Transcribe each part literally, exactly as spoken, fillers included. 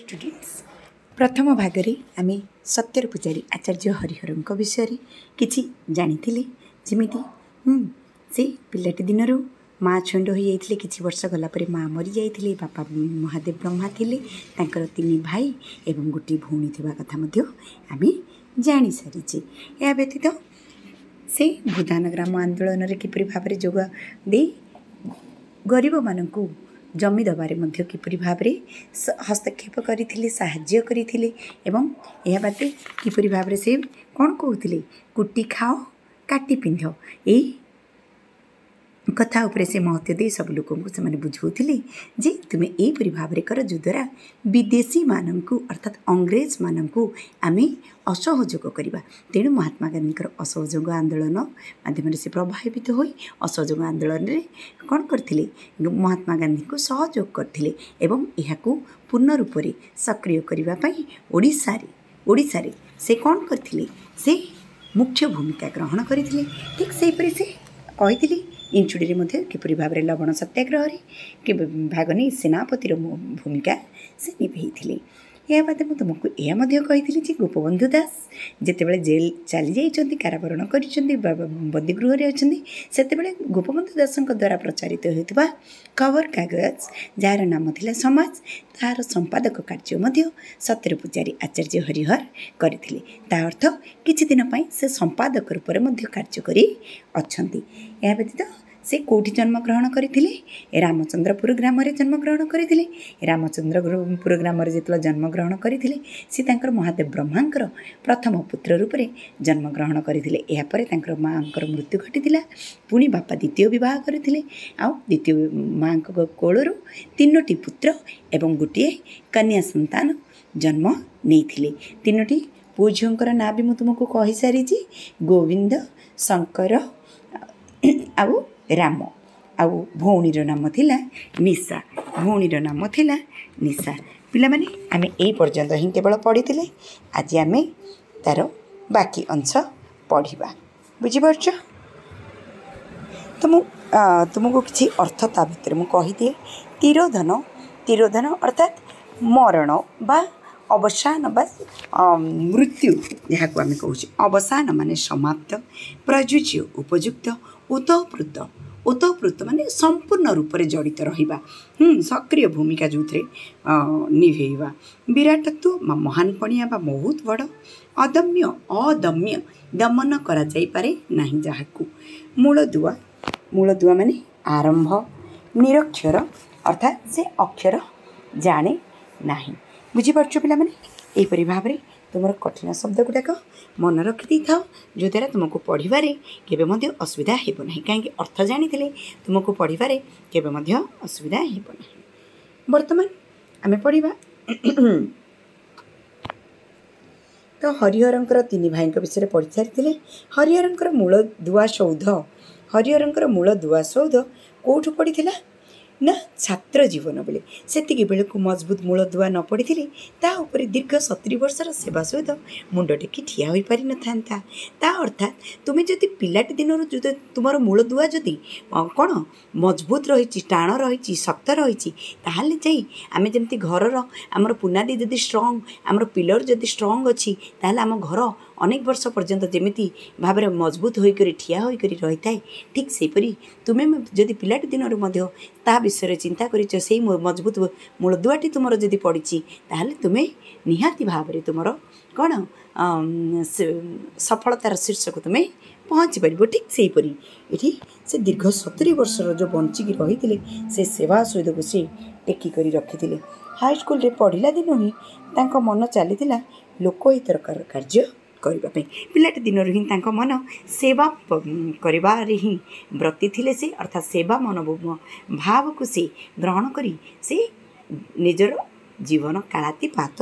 Students, ପ୍ରଥମ ଭାଗରେ ଆମେ ସତ୍ୟର ପୂଜାରୀ ଆଚାର୍ଯ୍ୟ ହରିହରଙ୍କ ବିଷୟରେ କିଛି ଜାଣିଥିଲେ। ଯେମିତି ସେ ପିଲାଟି ଦିନରୁ ମା ଛେଣ୍ଡ ହୋଇଯାଇଥିଲେ, କିଛି ବର୍ଷ ଗଲା ପରେ ମା ମରିଯାଇଥିଲେ, ବାପା ମହାଦେବ ବ୍ରହ୍ମା ଥିଲେ, ତାଙ୍କର ତିନି ଭାଇ ଏବଂ ଗୋଟିଏ ଭଉଣୀ ଥିବା କଥା ମଧ୍ୟ ଆମେ ଜାଣିସାରିଛେ। ଏହା ବ୍ୟତୀତ ସେ ଭୂଦାନ ଗ୍ରାମ ଆନ୍ଦୋଳନରେ କିପରି ଭାବରେ ଯୋଗ ଦେଇ ଗରିବମାନଙ୍କୁ ଜମି ଦେବାରେ ମଧ୍ୟ କିପରି ଭାବରେ ହସ୍ତକ୍ଷେପ କରିଥିଲେ, ସାହାଯ୍ୟ କରିଥିଲେ, ଏବଂ ଏହା ବାଦେ କିପରି ଭାବରେ ସେ କ'ଣ କହୁଥିଲେ, କୁଟି ଖାଅ କାଟି ପିନ୍ଧ, ଏଇ କଥା ଉପରେ ସେ ମହତ୍ତ୍ୱ ଦେଇ ସବୁ ଲୋକଙ୍କୁ ସେମାନେ ବୁଝାଉଥିଲେ ଯେ ତୁମେ ଏହିପରି ଭାବରେ କର ଯଦ୍ୱାରା ବିଦେଶୀମାନଙ୍କୁ ଅର୍ଥାତ୍ ଅଂଗ୍ରେଜମାନଙ୍କୁ ଆମେ ଅସହଯୋଗ କରିବା। ତେଣୁ ମହାତ୍ମା ଗାନ୍ଧୀଙ୍କର ଅସହଯୋଗ ଆନ୍ଦୋଳନ ମାଧ୍ୟମରେ ସେ ପ୍ରଭାବିତ ହୋଇ ଅସହଯୋଗ ଆନ୍ଦୋଳନରେ କ'ଣ କରିଥିଲେ? ମହାତ୍ମା ଗାନ୍ଧୀଙ୍କୁ ସହଯୋଗ କରିଥିଲେ ଏବଂ ଏହାକୁ ପୂର୍ଣ୍ଣ ରୂପରେ ସକ୍ରିୟ କରିବା ପାଇଁ ଓଡ଼ିଶାରେ ଓଡ଼ିଶାରେ ସେ କ'ଣ କରିଥିଲେ? ସେ ମୁଖ୍ୟ ଭୂମିକା ଗ୍ରହଣ କରିଥିଲେ। ଠିକ୍ ସେହିପରି ସେ କହିଥିଲି ଇଞ୍ଚୁଡ଼ିରେ ମଧ୍ୟ କିପରି ଭାବରେ ଲବଣ ସତ୍ୟାଗ୍ରହରେ ଭାଗ ନେଇ ସେନାପତିର ଭୂମିକା ସେ ନିଭେଇଥିଲେ। ଏହା ବାଦେ ମୁଁ ତୁମକୁ ଏହା ମଧ୍ୟ କହିଥିଲି ଯେ ଗୋପବନ୍ଧୁ ଦାସ ଯେତେବେଳେ ଜେଲ୍ ଚାଲି ଯାଇଛନ୍ତି, କାରାବରଣ କରିଛନ୍ତି ବା ବନ୍ଦୀଗୃହରେ ଅଛନ୍ତି, ସେତେବେଳେ ଗୋପବନ୍ଧୁ ଦାସଙ୍କ ଦ୍ୱାରା ପ୍ରଚାରିତ ହେଉଥିବା ଖବରକାଗଜ ଯାହାର ନାମ ଥିଲା ସମାଜ, ତାହାର ସମ୍ପାଦକ କାର୍ଯ୍ୟ ମଧ୍ୟ ସତ୍ୟର ପୂଜାରୀ ଆଚାର୍ଯ୍ୟ ହରିହର କରିଥିଲେ। ତା ଅର୍ଥ କିଛି ଦିନ ପାଇଁ ସେ ସମ୍ପାଦକ ରୂପରେ ମଧ୍ୟ କାର୍ଯ୍ୟ କରି ଅଛନ୍ତି। ଏହା ବ୍ୟତୀତ ସେ କେଉଁଠି ଜନ୍ମଗ୍ରହଣ କରିଥିଲେ? ରାମଚନ୍ଦ୍ରପୁର ଗ୍ରାମରେ ଜନ୍ମଗ୍ରହଣ କରିଥିଲେ। ରାମଚନ୍ଦ୍ରପୁର ଗ୍ରାମରେ ଯେତେବେଳେ ଜନ୍ମଗ୍ରହଣ କରିଥିଲେ, ସେ ତାଙ୍କର ମହାଦେବ ବ୍ରହ୍ମାଙ୍କର ପ୍ରଥମ ପୁତ୍ର ରୂପରେ ଜନ୍ମଗ୍ରହଣ କରିଥିଲେ। ଏହାପରେ ତାଙ୍କର ମାଆଙ୍କର ମୃତ୍ୟୁ ଘଟିଥିଲା। ପୁଣି ବାପା ଦ୍ୱିତୀୟ ବିବାହ କରିଥିଲେ ଆଉ ଦ୍ୱିତୀୟ ମାଆଙ୍କ କୋଳରୁ ତିନୋଟି ପୁତ୍ର ଏବଂ ଗୋଟିଏ କନ୍ୟା ସନ୍ତାନ ଜନ୍ମ ନେଇଥିଲେ। ତିନୋଟି ପୁଅ ଝିଅଙ୍କର ନାଁ ବି ମୁଁ ତୁମକୁ କହିସାରିଛି, ଗୋବିନ୍ଦ, ଶଙ୍କର ଆଉ ରାମ। ଆଉ ଭଉଣୀର ନାମ ଥିଲା ନିଶା। ଭଉଣୀର ନାମ ଥିଲା ନିଶା। ପିଲାମାନେ, ଆମେ ଏଇ ପର୍ଯ୍ୟନ୍ତ ହିଁ କେବଳ ପଢ଼ିଥିଲେ। ଆଜି ଆମେ ତା'ର ବାକି ଅଂଶ ପଢ଼ିବା। ବୁଝିପାରୁଛ ତ? ମୁଁ ତୁମକୁ କିଛି ଅର୍ଥ ତା ଭିତରେ ମୁଁ କହିଦିଏ। ତିରୋଧନ, ତିରୋଧନ ଅର୍ଥାତ୍ ମରଣ ବା ଅବସାନ ବା ମୃତ୍ୟୁ ଯାହାକୁ ଆମେ କହୁଛେ। ଅବସାନ ମାନେ ସମାପ୍ତ, ପ୍ରଯୁଜ୍ୟ ଉପଯୁକ୍ତ, ଓତଃପ୍ରୋତ, ଓତଃପ୍ରୋତ ମାନେ ସମ୍ପୂର୍ଣ୍ଣ ରୂପରେ ଜଡ଼ିତ ରହିବା, ସକ୍ରିୟ ଭୂମିକା ଯେଉଁଥିରେ ନିଭେଇବା। ବିରାଟତ୍ଵ ବା ମହାନପଣିଆ ବା ବହୁତ ବଡ଼। ଅଦମ୍ୟ, ଅଦମ୍ୟ ଦମନ କରାଯାଇପାରେ ନାହିଁ ଯାହାକୁ। ମୂଳଦୁଆ, ମୂଳଦୁଆ ମାନେ ଆରମ୍ଭ। ନିରକ୍ଷର ଅର୍ଥାତ୍ ସେ ଅକ୍ଷର ଜାଣେ ନାହିଁ। ବୁଝିପାରୁଛ ପିଲାମାନେ? ଏହିପରି ଭାବରେ ତୁମର କଠିନ ଶବ୍ଦ ଗୁଡ଼ାକ ମନେ ରଖିଦେଇଥାଅ, ଯଦ୍ୱାରା ତୁମକୁ ପଢ଼ିବାରେ କେବେ ମଧ୍ୟ ଅସୁବିଧା ହେବ ନାହିଁ। କାହିଁକି ଅର୍ଥ ଜାଣିଥିଲେ ତୁମକୁ ପଢ଼ିବାରେ କେବେ ମଧ୍ୟ ଅସୁବିଧା ହେବ ନାହିଁ। ବର୍ତ୍ତମାନ ଆମେ ପଢ଼ିବା ତ ହରିହରଙ୍କର ତିନି ଭାଇଙ୍କ ବିଷୟରେ ପଢ଼ି ସାରିଥିଲେ। ହରିହରଙ୍କର ମୂଳ ଦୁଆ ସୌଧ, ହରିହରଙ୍କର ମୂଳ ଦୁଆ ସୌଧ କେଉଁଠୁ ପଡ଼ିଥିଲା ନା ଛାତ୍ର ଜୀବନ ବେଳେ। ସେତିକି ବେଳକୁ ମଜବୁତ ମୂଳ ଦୁଆ ନ ପଡ଼ିଥିଲେ ତା ଉପରେ ଦୀର୍ଘ ସତୁରି ବର୍ଷର ସେବା ସହିତ ମୁଣ୍ଡ ଟେକି ଠିଆ ହୋଇପାରିନଥାନ୍ତା। ତା ଅର୍ଥାତ୍ ତୁମେ ଯଦି ପିଲାଟି ଦିନରୁ ଯଦି ତୁମର ମୂଳ ଦୁଆ ଯଦି କ'ଣ ମଜବୁତ ରହିଛି, ଟାଣ ରହିଛି, ଶକ୍ତ ରହିଛି, ତାହେଲେ ଯାଇ ଆମେ ଯେମିତି ଘରର ଆମର ପୁନାଦି ଯଦି ଷ୍ଟ୍ରଙ୍ଗ, ଆମର ପିଲର ଯଦି ଷ୍ଟ୍ରଙ୍ଗ ଅଛି, ତାହେଲେ ଆମ ଘର ଅନେକ ବର୍ଷ ପର୍ଯ୍ୟନ୍ତ ଯେମିତି ଭାବରେ ମଜବୁତ ହୋଇକରି ଠିଆ ହୋଇକରି ରହିଥାଏ, ଠିକ୍ ସେହିପରି ତୁମେ ଯଦି ପିଲାଟି ଦିନରୁ ମଧ୍ୟ ତା ବିଷୟରେ ଚିନ୍ତା କରିଛ, ସେଇ ମଜବୁତ ମୂଳଦୁଆଟି ତୁମର ଯଦି ପଡ଼ିଛି, ତାହେଲେ ତୁମେ ନିହାତି ଭାବରେ ତୁମର କ'ଣ ସଫଳତାର ଶୀର୍ଷକୁ ତୁମେ ପହଞ୍ଚି ପାରିବ। ଠିକ୍ ସେହିପରି ଏଠି ସେ ଦୀର୍ଘ ସତୁରି ବର୍ଷର ଯେଉଁ ବଞ୍ଚିକି ରହିଥିଲେ, ସେ ସେବା ସହିତକୁ ସେ ଟେକି କରି ରଖିଥିଲେ। ହାଇସ୍କୁଲରେ ପଢ଼ିଲା ଦିନୁ ହିଁ ତାଙ୍କ ମନ ଚାଲିଥିଲା ଲୋକହିତର କାର୍ଯ୍ୟ କରିବା ପାଇଁ। ପିଲାଟି ଦିନରୁ ହିଁ ତାଙ୍କ ମନ ସେବା କରିବାରେ ହିଁ ବ୍ରତୀ ଥିଲେ ସେ, ଅର୍ଥାତ୍ ସେବା ମନ ଭାବକୁ ସେ ଗ୍ରହଣ କରି ସେ ନିଜର ଜୀବନ କାଳାତିପାତ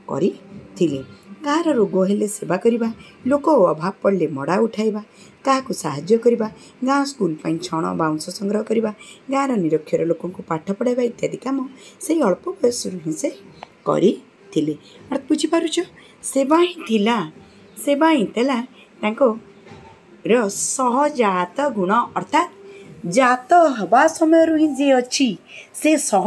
କରିଥିଲେ। କାହାର ରୋଗ ହେଲେ ସେବା କରିବା, ଲୋକ ଅଭାବ ପଡ଼ିଲେ ମଡ଼ା ଉଠାଇବା, କାହାକୁ ସାହାଯ୍ୟ କରିବା, ଗାଁ ସ୍କୁଲ ପାଇଁ ଛଣ ବାଉଁଶ ସଂଗ୍ରହ କରିବା, ଗାଁର ନିରକ୍ଷର ଲୋକଙ୍କୁ ପାଠ ପଢ଼ାଇବା ଇତ୍ୟାଦି କାମ ସେଇ ଅଳ୍ପ ବୟସରୁ ହିଁ ସେ କରିଥିଲେ। ଅର୍ଥାତ୍ ବୁଝିପାରୁଛ, ସେବା ହିଁ ଥିଲା, ସେବା ହିଁ ଥିଲା ତାଙ୍କର ସହଜାତ ଗୁଣ। ଅର୍ଥାତ୍ ଜାତ ହେବା ସମୟରୁ ହିଁ ଯିଏ ଅଛି ସେ ସହ,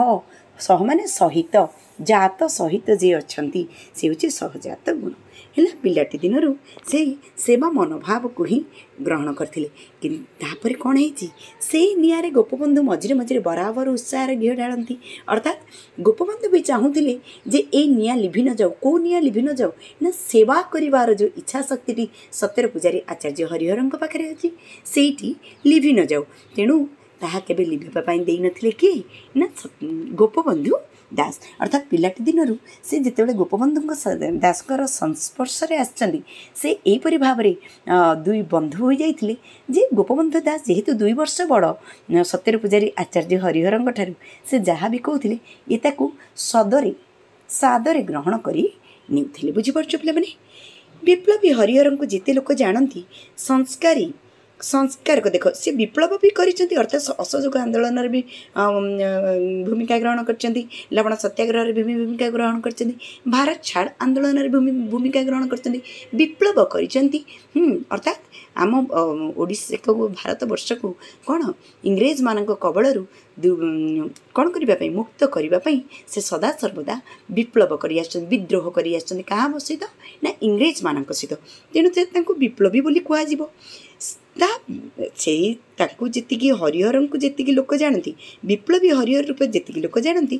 ସହ ମାନେ ସହିତ, ଜାତ ସହିତ ଯିଏ ଅଛନ୍ତି ସେ ହେଉଛି ସହଜାତ ଗୁଣ। ହେଲା, ପିଲାଟି ଦିନରୁ ସେଇ ସେବା ମନୋଭାବକୁ ହିଁ ଗ୍ରହଣ କରିଥିଲେ। କିନ୍ତୁ ତାପରେ କ'ଣ ହେଇଛି? ସେଇ ନିଆଁରେ ଗୋପବନ୍ଧୁ ମଝିରେ ମଝିରେ ବରାବର ଉତ୍ସାହରେ ଘିଅ ଢାଳନ୍ତି। ଅର୍ଥାତ୍ ଗୋପବନ୍ଧୁ ବି ଚାହୁଁଥିଲେ ଯେ ଏଇ ନିଆଁ ଲିଭି ନ ଯାଉ। କେଉଁ ନିଆଁ ଲିଭି ନ ଯାଉ? ନା ସେବା କରିବାର ଯେଉଁ ଇଚ୍ଛା ଶକ୍ତିଟି ସତ୍ୟର ପୂଜାରୀ ଆଚାର୍ଯ୍ୟ ହରିହରଙ୍କ ପାଖରେ ଅଛି, ସେଇଟି ଲିଭି ନ ଯାଉ। ତେଣୁ ତାହା କେବେ ଲିଭିବା ପାଇଁ ଦେଇନଥିଲେ କିଏ? ନା ଗୋପବନ୍ଧୁ ଦାସ। ଅର୍ଥାତ୍ ପିଲାଟି ଦିନରୁ ସେ ଯେତେବେଳେ ଗୋପବନ୍ଧୁଙ୍କ ଦାସଙ୍କର ସଂସ୍ପର୍ଶରେ ଆସିଛନ୍ତି, ସେ ଏହିପରି ଭାବରେ ଦୁଇ ବନ୍ଧୁ ହୋଇଯାଇଥିଲେ ଯେ ଗୋପବନ୍ଧୁ ଦାସ ଯେହେତୁ ଦୁଇ ବର୍ଷ ବଡ଼ ସତ୍ୟର ପୂଜାରୀ ଆଚାର୍ଯ୍ୟ ହରିହରଙ୍କ ଠାରୁ, ସେ ଯାହା ବି କହୁଥିଲେ ଇଏ ତାକୁ ସଦରେ ସାଦରେ ଗ୍ରହଣ କରି ନେଉଥିଲେ। ବୁଝିପାରୁଛ ପିଲାମାନେ? ବିପ୍ଳବୀ ହରିହରଙ୍କୁ ଯେତେ ଲୋକ ଜାଣନ୍ତି, ସଂସ୍କାରୀ ସଂସ୍କାରକ, ଦେଖ ସେ ବିପ୍ଳବ ବି କରିଛନ୍ତି, ଅର୍ଥାତ୍ ଅସହଯୋଗ ଆନ୍ଦୋଳନରେ ବି ଭୂମିକା ଗ୍ରହଣ କରିଛନ୍ତି, ଲବଣ ସତ୍ୟାଗ୍ରହରେ ବି ଭୂମିକା ଗ୍ରହଣ କରିଛନ୍ତି, ଭାରତ ଛାଡ଼ ଆନ୍ଦୋଳନରେ ଭୂମିକା ଗ୍ରହଣ କରିଛନ୍ତି, ବିପ୍ଳବ କରିଛନ୍ତି। ଅର୍ଥାତ୍ ଆମ ଓଡ଼ିଶାକୁ, ଭାରତବର୍ଷକୁ କ'ଣ ଇଂରେଜମାନଙ୍କ କବଳରୁ କ'ଣ କରିବା ପାଇଁ, ମୁକ୍ତ କରିବା ପାଇଁ ସେ ସଦାସର୍ବଦା ବିପ୍ଳବ କରି ଆସିଛନ୍ତି, ବିଦ୍ରୋହ କରି ଆସିଛନ୍ତି। କାହା ସହିତ? ନା ଇଂରେଜମାନଙ୍କ ସହିତ। ତେଣୁ ସେ ତାଙ୍କୁ ବିପ୍ଳବୀ ବୋଲି କୁହାଯିବ। ତା ସେଇ ତାଙ୍କୁ ଯେତିକି, ହରିହରଙ୍କୁ ଯେତିକି ଲୋକ ଜାଣନ୍ତି, ବିପ୍ଳବୀ ହରିହର ରୂପେ ଯେତିକି ଲୋକ ଜାଣନ୍ତି,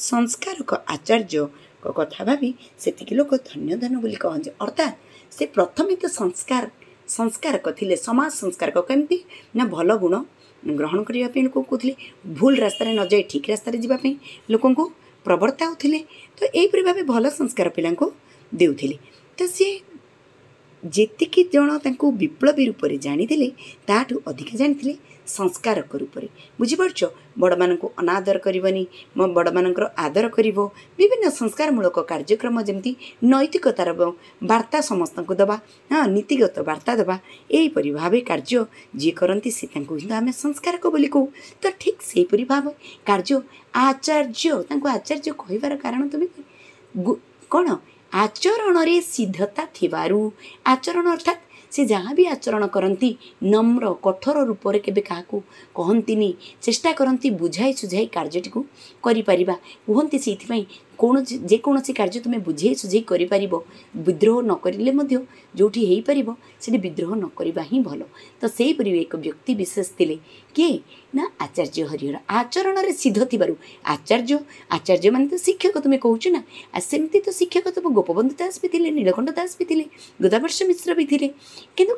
ସଂସ୍କାରକ ଆଚାର୍ଯ୍ୟଙ୍କ କଥା ଭାବି ସେତିକି ଲୋକ ଧନ୍ୟ ଧନ୍ୟ ବୋଲି କହନ୍ତି। ଅର୍ଥାତ୍ ସେ ପ୍ରଥମେ ତ ସଂସ୍କାର ସଂସ୍କାରକ ଥିଲେ, ସମାଜ ସଂସ୍କାରକ। କେମିତି? ନା ଭଲ ଗୁଣ ଗ୍ରହଣ କରିବା ପାଇଁ ଲୋକଙ୍କୁ କହୁଥିଲେ, ଭୁଲ ରାସ୍ତାରେ ନ ଯାଇ ଠିକ୍ ରାସ୍ତାରେ ଯିବା ପାଇଁ ଲୋକଙ୍କୁ ପ୍ରବର୍ତ୍ତାଉଥିଲେ। ତ ଏହିପରି ଭାବେ ଭଲ ସଂସ୍କାର ପିଲାଙ୍କୁ ଦେଉଥିଲେ। ତ ସିଏ ଯେତିକି ଜଣ ତାଙ୍କୁ ବିପ୍ଳବୀ ରୂପରେ ଜାଣିଥିଲେ, ତାଠୁ ଅଧିକା ଜାଣିଥିଲେ ସଂସ୍କାରକ ରୂପରେ। ବୁଝିପାରୁଛ? ବଡ଼ମାନଙ୍କୁ ଅନାଦର କରିବନି, ବଡ଼ମାନଙ୍କର ଆଦର କରିବ, ବିଭିନ୍ନ ସଂସ୍କାରମୂଳକ କାର୍ଯ୍ୟକ୍ରମ, ଯେମିତି ନୈତିକତାର ବାର୍ତ୍ତା ସମସ୍ତଙ୍କୁ ଦେବା, ହଁ, ନୀତିଗତ ବାର୍ତ୍ତା ଦେବା, ଏହିପରି ଭାବେ କାର୍ଯ୍ୟ ଯିଏ କରନ୍ତି ସେ ତାଙ୍କୁ କିନ୍ତୁ ଆମେ ସଂସ୍କାରକ ବୋଲି କହୁ। ତ ଠିକ୍ ସେହିପରି ଭାବେ କାର୍ଯ୍ୟ ଆଚାର୍ଯ୍ୟ, ତାଙ୍କୁ ଆଚାର୍ଯ୍ୟ କହିବାର କାରଣ ତୁମେ କ'ଣ? ଆଚରଣରେ ସିଦ୍ଧତା ଥିବାରୁ। ଆଚରଣ ଅର୍ଥାତ୍ ସେ ଯାହା ବି ଆଚରଣ କରନ୍ତି ନମ୍ର କଠୋର ରୂପରେ କେବେ କାହାକୁ କହନ୍ତିନି, ଚେଷ୍ଟା କରନ୍ତି ବୁଝାଇ ସୁଝାଇ କାର୍ଯ୍ୟଟିକୁ କରିପାରିବା କୁହନ୍ତି। ସେଇଥିପାଇଁ କୌଣସି ଯେକୌଣସି କାର୍ଯ୍ୟ ତୁମେ ବୁଝେଇ ସୁଝେଇ କରିପାରିବ, ବିଦ୍ରୋହ ନ କରିଲେ ମଧ୍ୟ ଯେଉଁଠି ହେଇପାରିବ ସେଠି ବିଦ୍ରୋହ ନ କରିବା ହିଁ ଭଲ। ତ ସେହିପରି ଏକ ବ୍ୟକ୍ତି ବିଶେଷ ଥିଲେ କିଏ? ନା ଆଚାର୍ଯ୍ୟ ହରିହର। ଆଚରଣରେ ସିଦ୍ଧ ଥିବାରୁ ଆଚାର୍ଯ୍ୟ। ଆଚାର୍ଯ୍ୟ ମାନେ ତ ଶିକ୍ଷକ ତୁମେ କହୁଛ ନା, ଆଉ ସେମିତି ତ ଶିକ୍ଷକ ତୁମ ଗୋପବନ୍ଧୁ ଦାସ ବି ଥିଲେ, ନୀଳକଣ୍ଠ ଦାସ ବି ଥିଲେ, ଗୋଦାବର୍ଷ ମିଶ୍ର ବି ଥିଲେ, କିନ୍ତୁ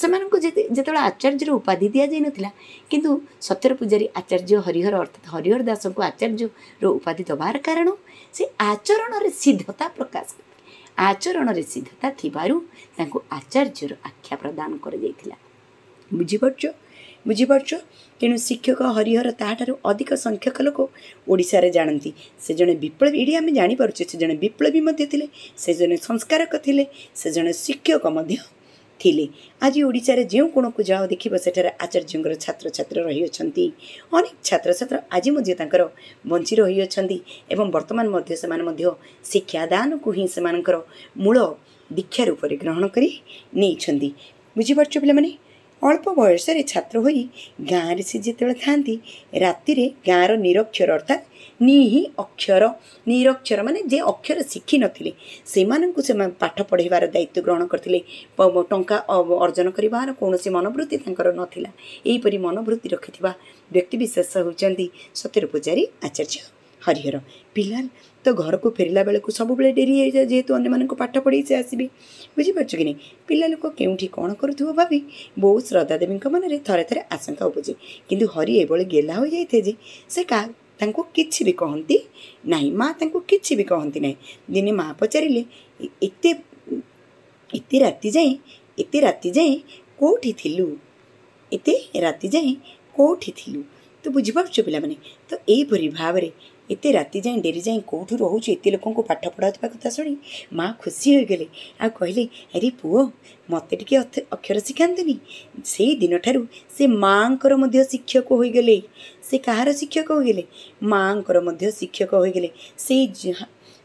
ସେମାନଙ୍କୁ ଯେତେବେଳେ ଆଚାର୍ଯ୍ୟର ଉପାଧି ଦିଆଯାଇନଥିଲା। କିନ୍ତୁ ସତ୍ୟର ପୂଜାରୀ ଆଚାର୍ଯ୍ୟ ହରିହର, ଅର୍ଥାତ୍ ହରିହର ଦାସଙ୍କୁ ଆଚାର୍ଯ୍ୟର ଉପାଧି ଦେବାର କାରଣ ସେ ଆଚରଣରେ ସିଦ୍ଧତା ପ୍ରକାଶ କରିଥିଲେ। ଆଚରଣରେ ସିଦ୍ଧତା ଥିବାରୁ ତାଙ୍କୁ ଆଚାର୍ଯ୍ୟର ଆଖ୍ୟା ପ୍ରଦାନ କରାଯାଇଥିଲା। ବୁଝିପାରୁଛ? ବୁଝିପାରୁଛ? ତେଣୁ ଶିକ୍ଷକ ହରିହର ତାହାଠାରୁ ଅଧିକ ସଂଖ୍ୟକ ଲୋକ ଓଡ଼ିଶାରେ ଜାଣନ୍ତି। ସେ ଜଣେ ବିପ୍ଳବୀ, ଏଇଠି ଆମେ ଜାଣିପାରୁଛେ ସେ ଜଣେ ବିପ୍ଳବୀ ମଧ୍ୟ ଥିଲେ, ସେ ଜଣେ ସଂସ୍କାରକ ଥିଲେ, ସେ ଜଣେ ଶିକ୍ଷକ ମଧ୍ୟ ଥିଲେ। ଆଜି ଓଡ଼ିଶାରେ ଯେଉଁ କୋଣକୁ ଯାଅ ଦେଖିବ ସେଠାରେ ଆଚାର୍ଯ୍ୟଙ୍କର ଛାତ୍ରଛାତ୍ରୀ ରହିଅଛନ୍ତି। ଅନେକ ଛାତ୍ରଛାତ୍ର ଆଜି ମଧ୍ୟ ତାଙ୍କର ବଞ୍ଚି ରହିଅଛନ୍ତି ଏବଂ ବର୍ତ୍ତମାନ ମଧ୍ୟ ସେମାନେ ମଧ୍ୟ ଶିକ୍ଷାଦାନକୁ ହିଁ ସେମାନଙ୍କର ମୂଳ ଦୀକ୍ଷା ରୂପରେ ଗ୍ରହଣ କରି ନେଇଛନ୍ତି। ବୁଝିପାରୁଛ ପିଲାମାନେ? ଅଳ୍ପ ବୟସରେ ଛାତ୍ର ହୋଇ ଗାଁରେ ସେ ଯେତେବେଳେ ଥାଆନ୍ତି, ରାତିରେ ଗାଁର ନିରକ୍ଷର, ଅର୍ଥାତ୍ ନିହି ଅକ୍ଷର, ନିରକ୍ଷର ମାନେ ଯେ ଅକ୍ଷର ଶିଖିନଥିଲେ, ସେମାନଙ୍କୁ ସେମାନେ ପାଠ ପଢ଼ାଇବାର ଦାୟିତ୍ୱ ଗ୍ରହଣ କରିଥିଲେ। ଟଙ୍କା ଅର୍ଜନ କରିବାର କୌଣସି ମନୋବୃତ୍ତି ତାଙ୍କର ନଥିଲା। ଏହିପରି ମନୋବୃତ୍ତି ରଖିଥିବା ବ୍ୟକ୍ତିବିଶେଷ ହେଉଛନ୍ତି ସତ୍ୟର ପୂଜାରୀ ଆଚାର୍ଯ୍ୟ ହରିହର। ପିଲା ତ ଘରକୁ ଫେରିଲା ବେଳକୁ ସବୁବେଳେ ଡେରି ହେଇଯାଏ, ଯେହେତୁ ଅନ୍ୟମାନଙ୍କୁ ପାଠ ପଢ଼େଇ ସେ ଆସିବେ। ବୁଝିପାରୁଛ କି ନାହିଁ? ପିଲା ଲୋକ କେଉଁଠି କ'ଣ କରୁଥିବ ଭାବି ବୋଉ ଶ୍ରଦ୍ଧା ଦେବୀଙ୍କ ମନରେ ଥରେ ଥରେ ଆଶଙ୍କା ଉପୁଜେ। କିନ୍ତୁ ହରି ଏଭଳି ଗେହ୍ଲା ହୋଇଯାଇଥାଏ ଯେ ସେ କାହା ତାଙ୍କୁ କିଛି ବି କହନ୍ତି ନାହିଁ, ମା ତାଙ୍କୁ କିଛି ବି କହନ୍ତି ନାହିଁ। ଦିନେ ମା ପଚାରିଲେ, ଏତେ ଏତେ ରାତି ଯାଏଁ ଏତେ ରାତି ଯାଏଁ କେଉଁଠି ଥିଲୁ? ଏତେ ରାତି ଯାଏଁ କେଉଁଠି ଥିଲୁ? ତ ବୁଝିପାରୁଛ ପିଲାମାନେ? ତ ଏହିପରି ଭାବରେ ଏତେ ରାତି ଯାଏଁ ଡେରି ଯାଏଁ କେଉଁଠୁ ରହୁଛୁ, ଏତେ ଲୋକଙ୍କୁ ପାଠ ପଢ଼ାଉଥିବା କଥା ଶୁଣି ମା ଖୁସି ହୋଇଗଲେ ଆଉ କହିଲେ, ଆରେ ପୁଅ, ମୋତେ ଟିକେ ଅକ୍ଷର ଶିଖାନ୍ତୁନି? ସେଇ ଦିନଠାରୁ ସେ ମାଆଙ୍କର ମଧ୍ୟ ଶିକ୍ଷକ ହୋଇଗଲେ। ସେ କାହାର ଶିକ୍ଷକ ହୋଇଗଲେ? ମାଆଙ୍କର ମଧ୍ୟ ଶିକ୍ଷକ ହୋଇଗଲେ। ସେଇ